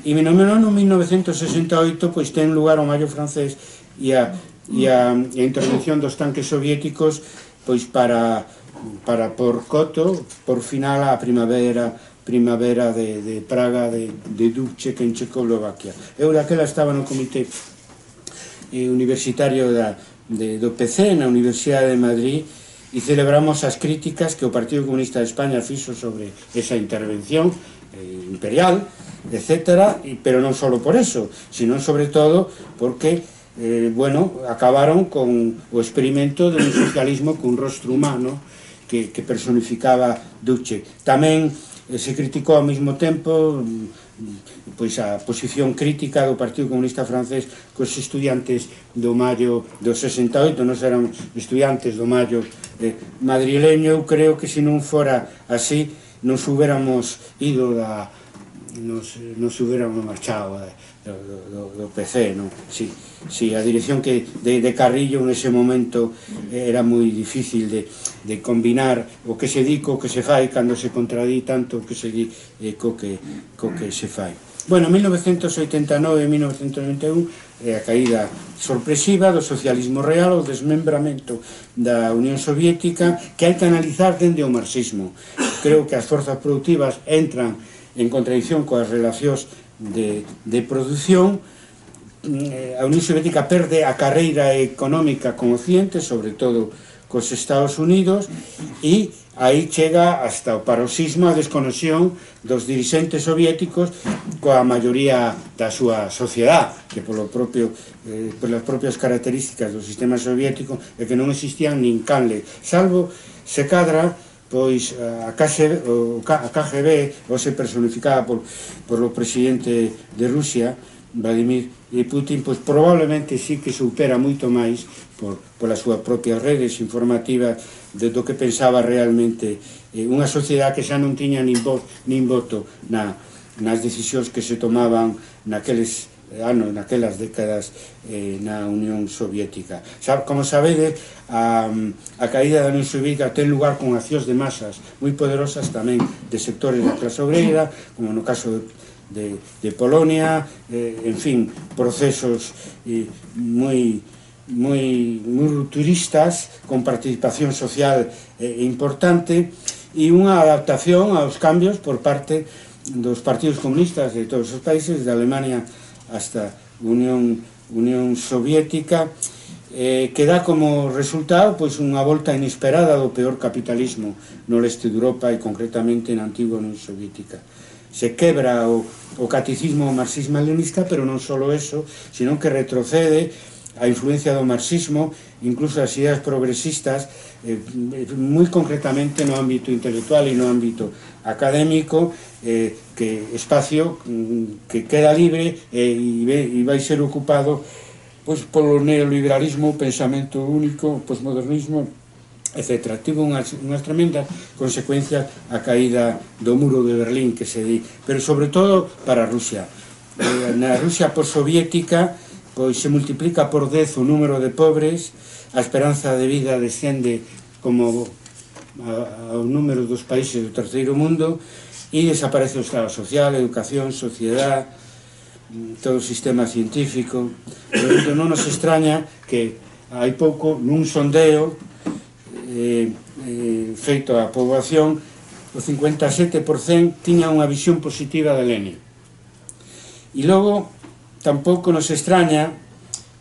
Speaker 3: e no ano 1968 pois ten lugar o Maio francés e a intervención dos tanques soviéticos pois para por coto, por final a primavera de Praga, de Dubček en Checoslovaquia. Eu daquela estaba no comité universitario do PC na Universidade de Madrid, e celebramos as críticas que o Partido Comunista de España fixo sobre esa intervención imperial, etc., pero non só por eso, sino sobre todo porque acabaron con o experimento de un socialismo cun rostro humano que personificaba Dubček. Tamén se criticou ao mesmo tempo pois a posición crítica do Partido Comunista francés cos estudiantes do Maio do 68. Nos éramos estudiantes do Maio madrileño. Eu creo que se non fora así nos hubiéramos ido nos hubiéramos marchado do PC, non? Si a dirección de Carrillo nese momento era moi difícil de combinar o que se di co que se fai, cando se contradí tanto o que se di co que se fai. Bueno, 1989 e 1991 é a caída sorpresiva do socialismo real, o desmembramento da Unión Soviética, que hai que analizar dende o marxismo. Creo que as forzas productivas entran en contradicción coas relacións de produción. A Unión Soviética perde a carreira económica con Occidente, sobre todo cos Estados Unidos, e aí chega hasta o paroxismo a desconexión dos dirixentes soviéticos coa maioría da súa sociedade, que polas propias características do sistema soviético é que non existían nin canle, salvo se cadra pois a KGB, hoxe personificada por o presidente de Rusia, Vladimir Putin, pois probablemente sí que supera moito máis polas súas propias redes informativas do que pensaba realmente unha sociedade que xa non tiña nin voz nin voto nas decisións que se tomaban naqueles anos, naquelas décadas na Unión Soviética. Como sabedes, a caída da Unión Soviética ten lugar con accións de masas moi poderosas tamén de sectores da clase obreira, como no caso de Polonia, en fin, procesos moi rupturistas, con participación social importante, e unha adaptación aos cambios por parte dos partidos comunistas de todos os países, de Alemania hasta Unión Soviética, que dá como resultado pois unha volta inesperada do peor capitalismo no leste de Europa e concretamente na antigua Unión Soviética. Se quebra o catecismo marxismo-leninista, pero non só eso, sino que retrocede a influencia do marxismo, incluso as ideas progresistas, moi concretamente no ámbito intelectual e no ámbito académico, que espacio que queda libre e vai ser ocupado polo neoliberalismo, pensamento único, posmodernismo, etc. Tivo unhas tremendas consecuencias a caída do muro de Berlín, que se di, pero sobre todo para Rusia. Na Rusia postsoviética pois se multiplica por 10 o número de pobres, a esperanza de vida descende como ao número dos países do terceiro mundo e desaparece o estado social, educación, sociedade, todo o sistema científico. Por tanto, non nos extraña que hai pouco nun sondeo feito á poboación, o 57% tiña unha visión positiva de Lenin. E logo tampouco nos extraña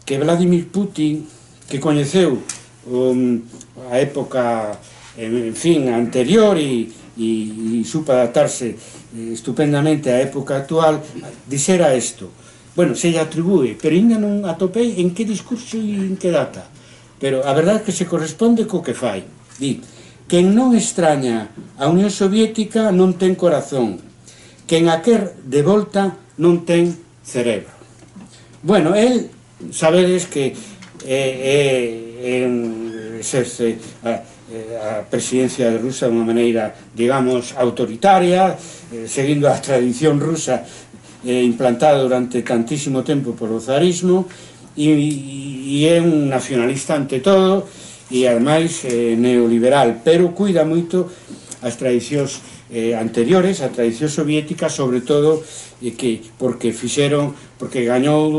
Speaker 3: que Vladimir Putin, que coñeceu a época, en fin, anterior e supo adaptarse estupendamente á época actual, dixera isto. Bueno, se lle atribúe, pero ainda non atopei en que discurso e en que data. Pero a verdade é que se corresponde co que fai. Di, quen non extraña a Unión Soviética non ten corazón, quen a quer de volta non ten cerebro. Bueno, el, sabedes que exerce a presidencia de Rusia de unha maneira, digamos, autoritaria, seguindo a tradición rusa implantada durante tantísimo tempo por o zarismo, e é un nacionalista ante todo e ademais neoliberal, pero cuida moito as tradicións anteriores, a tradición soviética, sobre todo porque gañou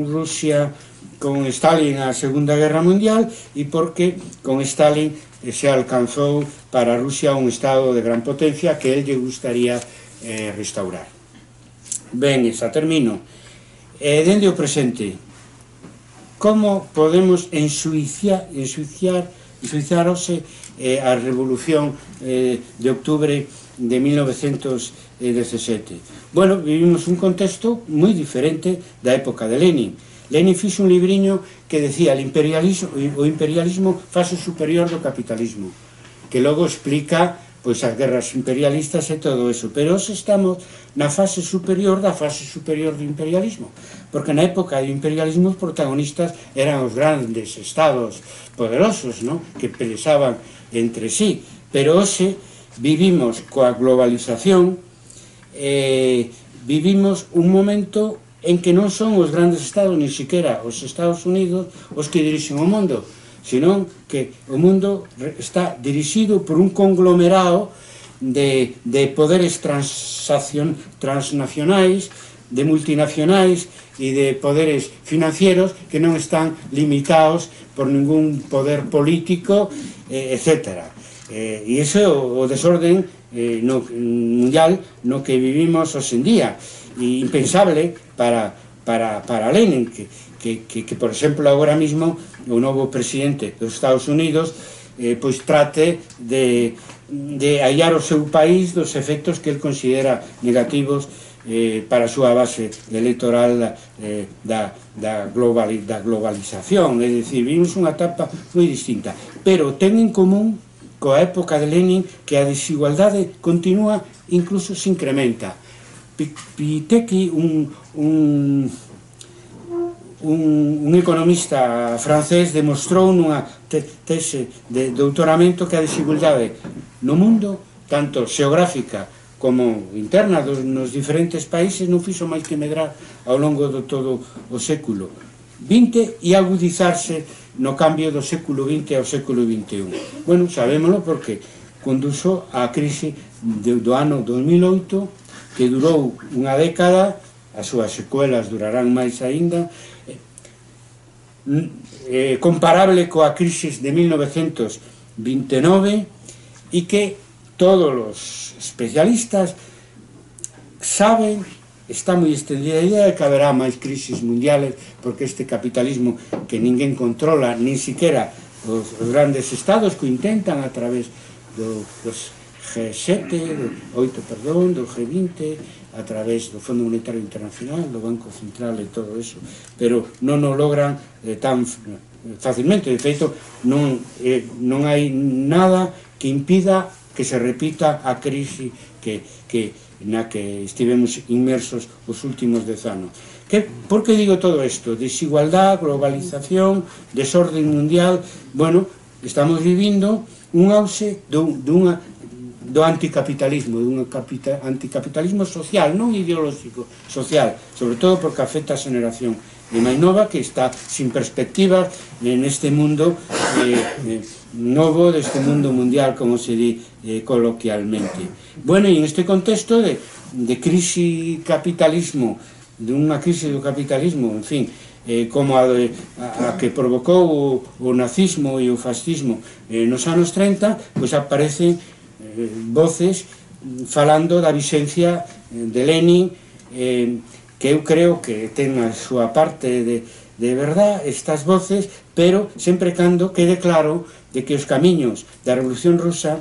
Speaker 3: Rusia con Stalin a Segunda Guerra Mundial e porque con Stalin se alcanzou para Rusia un estado de gran potencia que él lle gustaría restaurar. Ben, xa termino. Dende o presente, como podemos ensuiciarse a revolución de octubre de 1917? Bueno, vivimos un contexto moi diferente da época de Lenin. Lenin fixo un libriño que decía o imperialismo fase superior do capitalismo, que logo explica pois as guerras imperialistas e todo eso, pero hoxe estamos na fase superior da fase superior do imperialismo, porque na época do imperialismo os protagonistas eran os grandes estados poderosos, ¿no?, que peleaban entre sí, pero hoxe vivimos coa globalización, vivimos un momento en que non son os grandes estados, ni siquiera os Estados Unidos, os que dirixen o mundo, senón que o mundo está dirixido por un conglomerado de poderes transnacionais de multinacionais e de poderes financieros que non están limitados por ningún poder político, etc. E iso é o desorden mundial no que vivimos hoxendía, e impensable para Lenin, que por exemplo agora mismo o novo presidente dos Estados Unidos pois trate de aillar o seu país dos efectos que el considera negativos para a súa base electoral da globalización. É dicir, vimos unha etapa moi distinta, pero ten en común coa época de Lenin que a desigualdade continúa, incluso se incrementa. Piketty, un economista francés, demostrou nunha tese de doutoramento que a desigualdade no mundo, tanto xeográfica como interna nos diferentes países, non fixo máis que medrar ao longo de todo o século XX e agudizarse no cambio do século XX ao século XXI. Bueno, sabémoslo porque conduxo á crise do ano 2008, que durou unha década, as súas secuelas durarán máis aínda, comparable coa crise de 1929, e que todos os especialistas saben, está moi extendida a idea de que haberá máis crisis mundiales, porque este capitalismo que ninguén controla, nin siquiera os grandes estados que intentan a través dos G7, do G20, a través do Fondo Monetario Internacional, do Banco Central e todo eso, pero non o logran tan facilmente. De feito, non hai nada que impida que se repita a crise na que estivemos inmersos os últimos 10 anos. Por que digo todo isto? Desigualdad, globalización, desorden mundial. Bueno, estamos vivindo un auxe do anticapitalismo, dun anticapitalismo social, non ideolóxico, social, sobre todo porque afecta a xeneración de máis nova que está sin perspectivas neste mundo novo, deste mundo mundial, como se di coloquialmente. Bueno, e en este contexto de crise capitalismo, dunha crise do capitalismo, en fin, como a que provocou o nazismo e o fascismo nos anos 30, pois aparecen voces falando da vixencia de Lenin, que eu creo que ten a súa parte de verdad estas voces, pero sempre cando quede claro de que os camiños da Revolución Rusa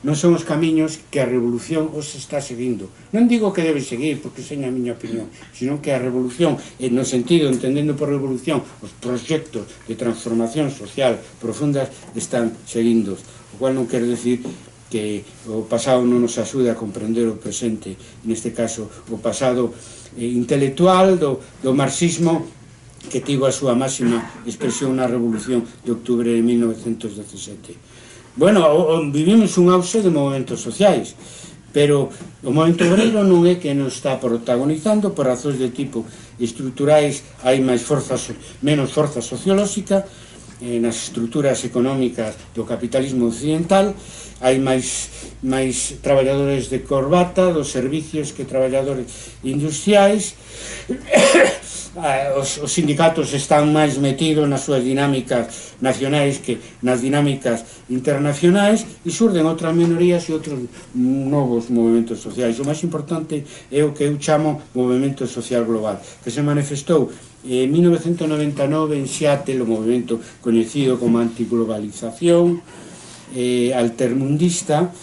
Speaker 3: non son os camiños que a Revolución os está seguindo. Non digo que debe seguir, porque sei a miña opinión, sino que a Revolución, no sentido, entendendo por Revolución, os proxectos de transformación social profundas están seguindo, o cual non quero decir que o pasado non nos axude a comprender o presente, neste caso o pasado intelectual do marxismo, que tivo a súa máxima expresión na Revolución de Octubre de 1917. Bueno, vivimos un auxe de movimentos sociais, pero o movimento obreiro non é que nos está protagonizando por razóns de tipo estruturais. Hai menos forza sociolóxica nas estruturas económicas do capitalismo occidental, hai máis traballadores de corbata dos servicios que traballadores industriais. Os sindicatos están máis metidos nas súas dinámicas nacionais que nas dinámicas internacionais, e surden outras minorías e outros novos movimentos sociais. O máis importante é o que eu chamo movimento social global, que se manifestou en 1999 en Seattle, o movimento coñecido como antiglobalización altermundista,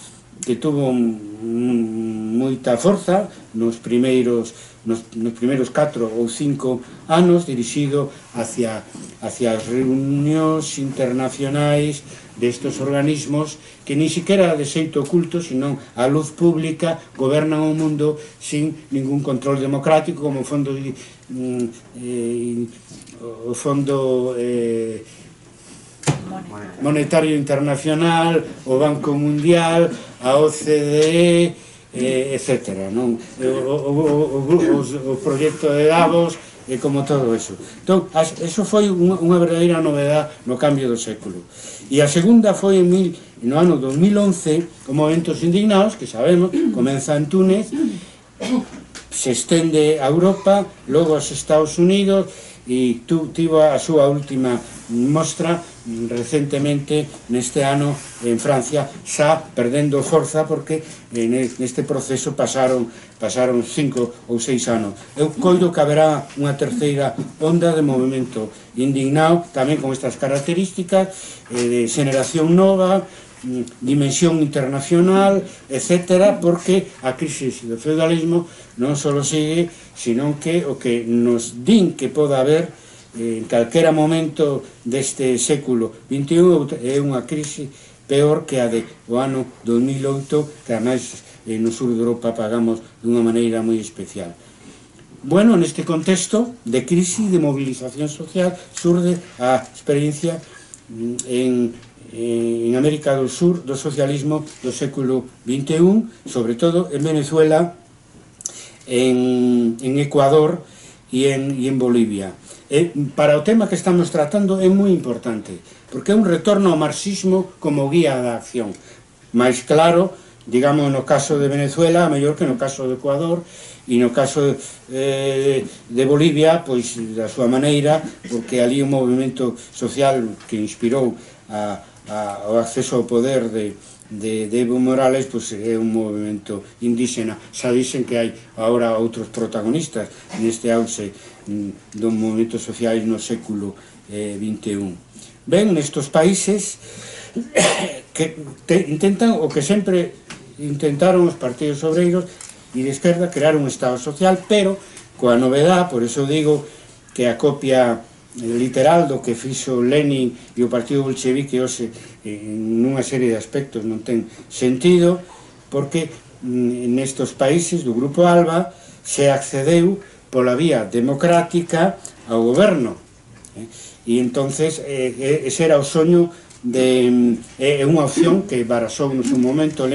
Speaker 3: que tuvo moita forza nos primeiros 4 ou 5 anos, dirixido hacia as reunións internacionais destes organismos que ni siquiera de xeito oculto, senón a luz pública, gobernan o mundo sin ningún control democrático, como o Fondo Monetario Internacional, o Banco Mundial, a OCDE, etc. O proxecto de Davos, como todo eso. Entón, eso foi unha verdadeira novedade no cambio do século. E a segunda foi no ano 2011, o Movementos Indignados, que sabemos, comeza en Túnez, se estende a Europa, logo aos Estados Unidos, e tivo a súa última mostra recentemente neste ano en Francia, xa perdendo forza porque neste proceso pasaron 5 ou 6 anos. Eu coido que haberá unha terceira onda de movimento indignado tamén con estas características de xeneración nova, dimensión internacional, etc., porque a crisis do feudalismo non só sigue, sino que o que nos din que poda haber en calquera momento deste século XXI é unha crisis peor que a do ano 2008, que ademais no sur de Europa pagamos dunha maneira moi especial. Bueno, neste contexto de crisis, de movilización social, surde a experiencia en América do Sur do socialismo do século XXI, sobre todo en Venezuela, en Ecuador e en Bolivia. Para o tema que estamos tratando é moi importante, porque é un retorno ao marxismo como guía da acción. Mais claro, digamos, no caso de Venezuela, mellor que no caso de Ecuador, e no caso de Bolivia, pois da súa maneira, porque ali o movimento social que inspirou o acceso ao poder de Evo Morales, pois é un movimento indígena. Xa dicen que hai agora outros protagonistas neste auxe do movimento social no século XXI. Ben, nestes países que intentan, o que sempre intentaron os partidos obreiros e de esquerda, crear un Estado social, pero coa novedade, por eso digo que a copia literal do que fixo Lenin e o Partido Bolchevique hoxe nunha serie de aspectos non ten sentido, porque nestes países do Grupo Alba se accedeu pola vía democrática ao goberno, e entonces ese era o soño é unha opción que barasou no seu momento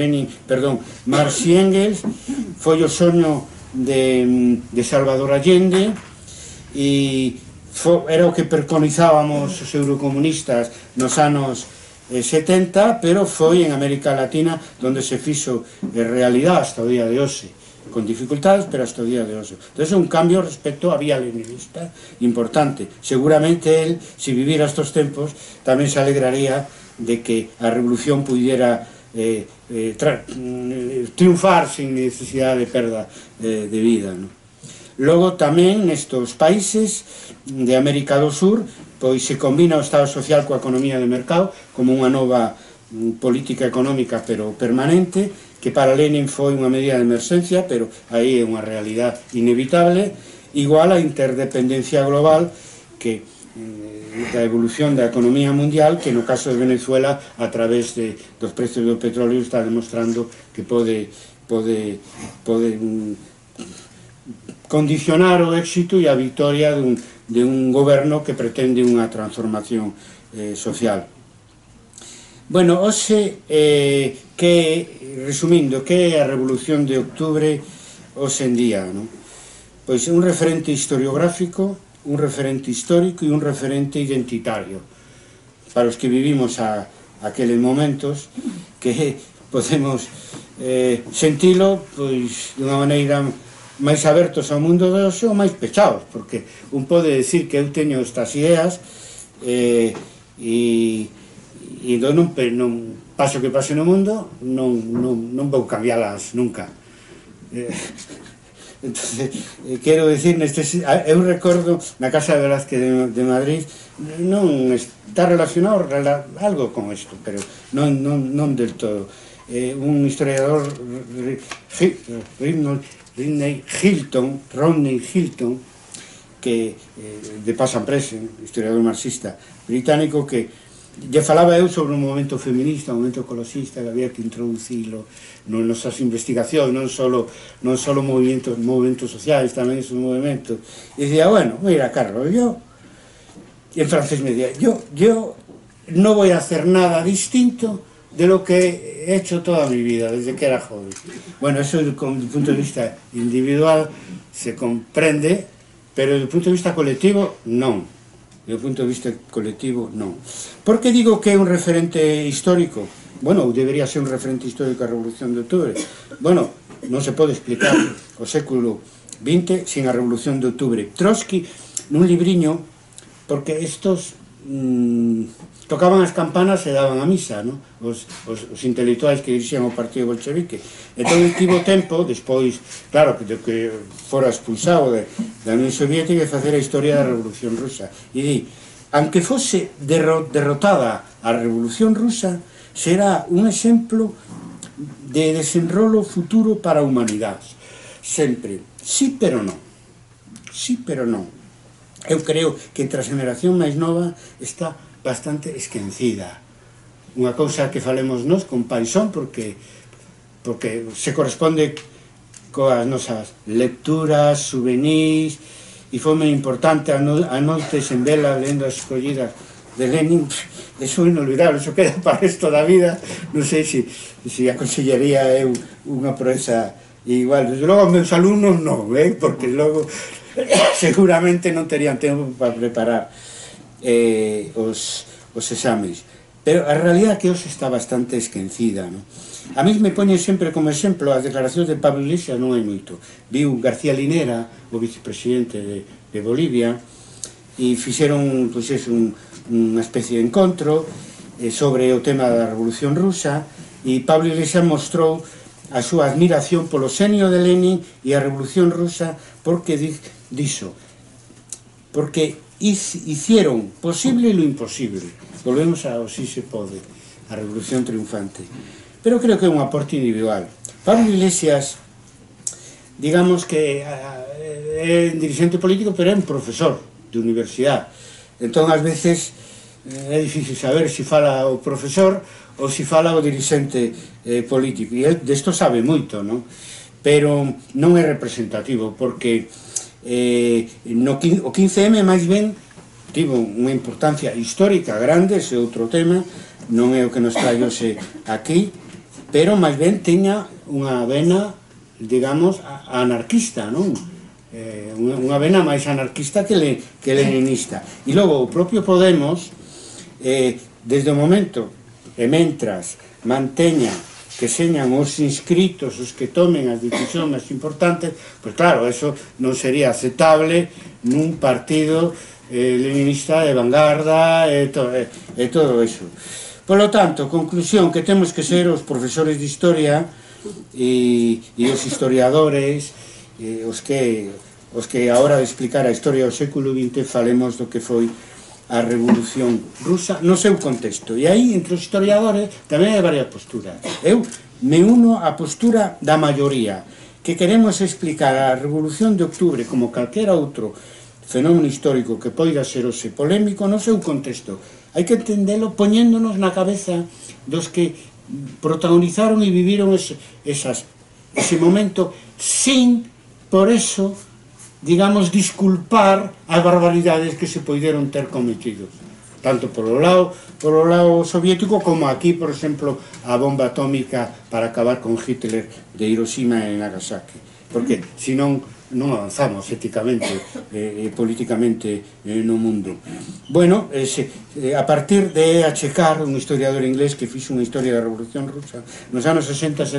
Speaker 3: Marx e Engels, foi o soño de Salvador Allende, e era o que preconizábamos os eurocomunistas nos anos 70, pero foi en América Latina onde se fixo realidade hasta o día de hoxe, con dificultades, pero hasta o día de hoxe. Entón é un cambio respecto á vía leninista importante. Seguramente él, se vivira estos tempos, tamén se alegraría de que a revolución pudiera triunfar sin necesidade de perda de vida, non? Logo tamén nestes países de América do Sur pois se combina o Estado social coa economía de mercado como unha nova política económica pero permanente, que para Lenin foi unha medida de emerxencia, pero aí é unha realidade inevitable, igual a interdependencia global que da evolución da economía mundial, que no caso de Venezuela a través dos precios do petróleo está demostrando que pode condicionar o éxito e a victoria de un goberno que pretende unha transformación social. Bueno, hoxe, resumindo, que é a Revolución de Octubre hoxe en día? Pois un referente historiográfico, un referente histórico e un referente identitario para os que vivimos aqueles momentos, que podemos sentilo pois dunha maneira máis abertos ao mundo de hoxe ou máis pechados, porque un pode decir que eu teño estas ideas e non paso que pase no mundo non vou cambialas nunca. Entonces, quero decir, eu recordo na Casa de Velázquez de Madrid, non está relacionado algo con isto, pero non del todo. Un historiador, Rodney Hilton, que de Pasan Presen, historiador marxista británico, que lle falaba eu sobre un momento feminista, un momento ecoloxista, que había que introducilo nas nosas investigacións, non só movimentos sociais, tamén esos movimentos. E dicía, bueno, mira, Carlos, en francés me decía, yo no voy a hacer nada distinto de lo que he hecho toda mi vida, desde que era joven. Bueno, eso desde el punto de vista individual se comprende, pero desde el punto de vista colectivo, non. Desde o punto de vista colectivo, non. Por que digo que é un referente histórico? Bueno, debería ser un referente histórico a Revolución de Octubre. Bueno, non se pode explicar o século XX, sin a Revolución de Octubre. Trotsky, nun libriño, porque estos tocaban as campanas e daban a misa, no? Os intelectuais que dirixían o partido bolchevique. Entón, tivo tempo, despois, claro, que fora expulsado da Unión Soviética, de facer a historia da Revolución Rusa. E di, aunque fose derrotada a Revolución Rusa, será un exemplo de desenrolo futuro para a humanidade. Sempre. Sí, pero non. Sí, pero non. Eu creo que entre a xeneración máis nova está bastante esquecida. Unha cousa que falemos nós con paixón porque se corresponde coas nosas lecturas, souvenirs, e foi moi importante a noites en vela lendo as escollidas de Lenin. Eso é inolvidable, eso queda para o resto da vida. Non sei se aconsellaría eu unha proeza igual. Desde logo, meus alumnos non, porque logo seguramente non terían tempo para preparar os exames. Pero a realidade é que hoxe está bastante esquecida, non? A mí me poñen sempre como exemplo as declaracións de Pablo Iglesias, non hai moito. Viu García Linera, o vicepresidente de Bolivia, e fixeron unha especie de encontro sobre o tema da Revolución Rusa, e Pablo Iglesias mostrou a súa admiración polo xenio de Lenin e a Revolución Rusa porque dixo, porque hicieron posible lo imposible. Volvemos ao si se pode, a Revolución Triunfante. Pero creo que é un aporte individual. Pablo Iglesias, digamos que é un dirigente político, pero é un profesor de universidade. Entón, ás veces, é difícil saber se fala o profesor ou se fala o dirigente político. E el desto sabe moito, non? Pero non é representativo, porque o 15M máis ben tivo unha importancia histórica grande, ese outro tema, non é o que nos trae hoxe aquí, pero máis ben teña unha vena, digamos, anarquista, non? Unha vena máis anarquista que leninista. E logo, o propio Podemos, desde o momento e mentras manteña que señan os inscritos os que tomen as decisións máis importantes, pois claro, eso non sería aceptable nun partido leninista de vanguarda e todo eso. Por lo tanto, conclusión, que temos que ser os profesores de historia e os historiadores, os que a hora de explicar a historia do século XX falemos do que foi a Revolución Rusa no seu contexto. E aí, entre os historiadores, tamén hai varias posturas. Eu me uno á postura da maioría, que queremos explicar a Revolución de Octubre como calquera outro fenómeno histórico que poida ser hoxe polémico no seu contexto. Hai que entendelo poñéndonos na cabeza dos que protagonizaron e viviron ese momento sin, por eso, digamos, disculpar as barbaridades que se poideron ter cometido, tanto polo lado soviético como aquí, por exemplo, a bomba atómica para acabar con Hitler de Hiroshima e Nagasaki, porque senón non avanzamos éticamente e políticamente no mundo. Bueno, a partir de H.K., un historiador inglés que fixo unha historia da Revolución Rusa, nos anos 60 e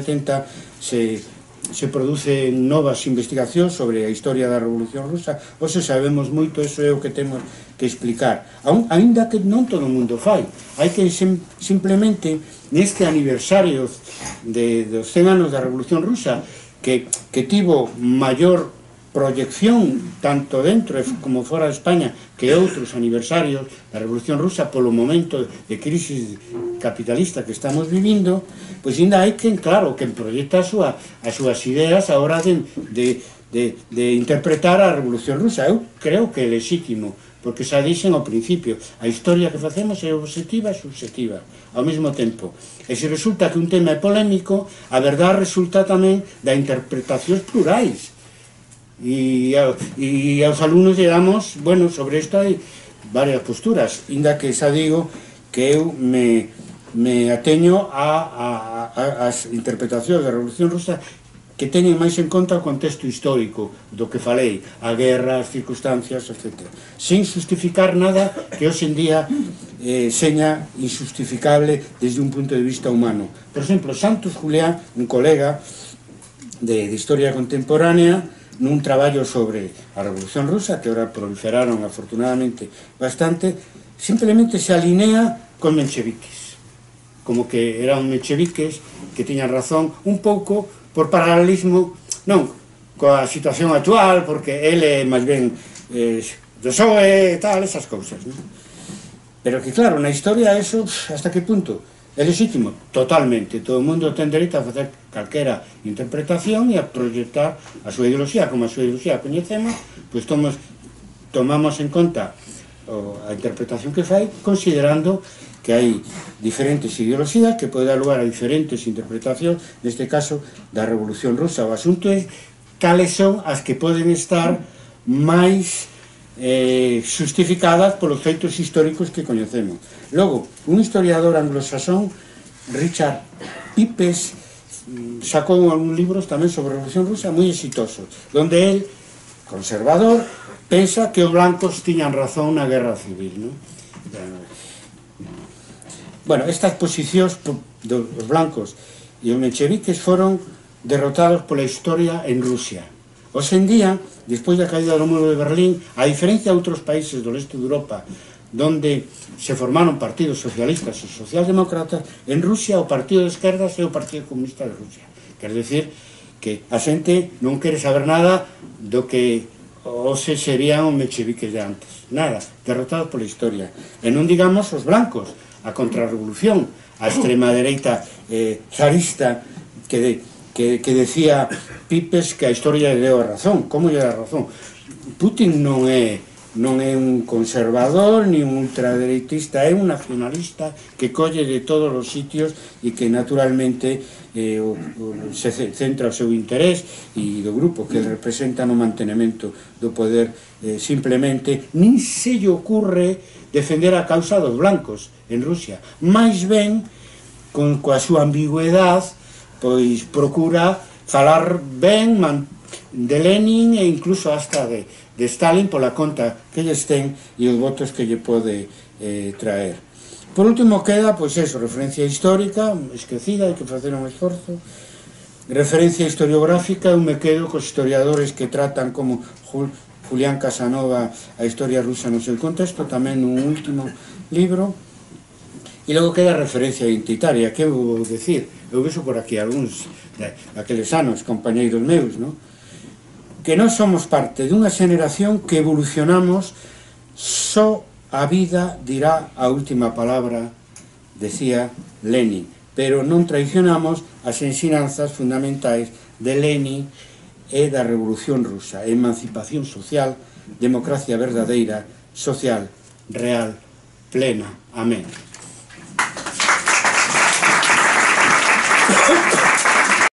Speaker 3: 70 se producen novas investigacións sobre a historia da Revolución Rusa. Hoxe sabemos moito, eso é o que temos que explicar, aínda que non todo o mundo fai. Hai que simplemente neste aniversario dos 100 anos da Revolución Rusa, que tivo maior proyección tanto dentro como fora de España que outros aniversarios da Revolución Rusa polo momento de crisis capitalista que estamos vivindo, pois ainda hai quen, claro, quen proyecta as súas ideas a hora de interpretar a Revolución Rusa. Eu creo que é legítimo, porque xa dixen ao principio, a historia que facemos é objetiva e subjetiva ao mesmo tempo. E se resulta que un tema é polémico, a verdade resulta tamén da interpretacións plurais. E aos alumnos lle damos, bueno, sobre isto hai varias posturas, inda que xa digo que eu me ateño ás interpretacións da Revolución Rusa que teñen máis en conta o contexto histórico do que falei, a guerra, as circunstancias, etc. Sin justificar nada que hoxe en día seña injustificable desde un punto de vista humano. Por exemplo, Santos Julián, un colega de historia contemporánea, nun traballo sobre a Revolución Rusa, que ahora proliferaron afortunadamente bastante, simplemente se alinea con mencheviques, como que eran mencheviques que tiñan razón un pouco por paralelismo, non coa situación actual, porque ele máis ben do PSOE e tal, esas cousas, non? Pero que claro, na historia eso, hasta que punto? É legítimo? Totalmente. Todo o mundo ten dereito a facer calquera interpretación e a proyectar a súa ideoloxía. Como a súa ideoloxía coñecemos, pois tomamos en conta a interpretación que fai, considerando que hai diferentes ideoloxías que pode dar lugar a diferentes interpretacións, neste caso da Revolución Rusa. O asunto é cales son as que poden estar máis justificadas polos feitos históricos que coñecemos. Logo, un historiador anglosasón, Richard Pipes, sacou algúns libros tamén sobre a Revolución Rusa moi exitosos, donde él, conservador, pensa que os blancos tiñan razón na guerra civil, non? Bueno, estas posicións dos blancos e os mencheviques foron derrotados pola historia en Rusia. Hoxe en día, despois da caída do muro de Berlín, a diferencia de outros países do leste de Europa, donde se formaron partidos socialistas e socialdemócratas, en Rusia o partido de esquerdas é o Partido Comunista de Rusia. Quer decir que a xente non quere saber nada do que hoxe serían os mencheviques de antes. Nada, derrotados pola historia. E non digamos os blancos, a contrarrevolución, a extrema dereita zarista que decía Pipes que a historia lle deu a razón. Como lle deu a razón? Putin non é un conservador ni un ultradereitista, é un nacionalista que colle de todos os sitios e que naturalmente se centra o seu interés e do grupo que representa no mantenimento do poder. Simplemente nin se lle ocurre defender a causa dos blancos en Rusia, máis ben coa súa ambigüedade pois procura falar ben de Lenin e incluso hasta de Stalin pola conta que lles ten e os votos que lle pode traer. Por último queda, pois eso, referencia histórica, esquecida, hai que facer un esforzo, referencia historiográfica, eu me quedo cos historiadores que tratan como Julián Casanova a historia rusa no seu contexto, tamén nun último libro. E logo queda a referencia identitaria, que vou decir? Eu vexo por aquí algúns daqueles anos, compañeiros meus, non? Que non somos parte dunha xeneración que evolucionamos, só a vida dirá a última palabra, decía Lenin, pero non traicionamos as ensinanzas fundamentais de Lenin e da Revolución Rusa, emancipación social, democracia verdadeira, social, real, plena. Amén.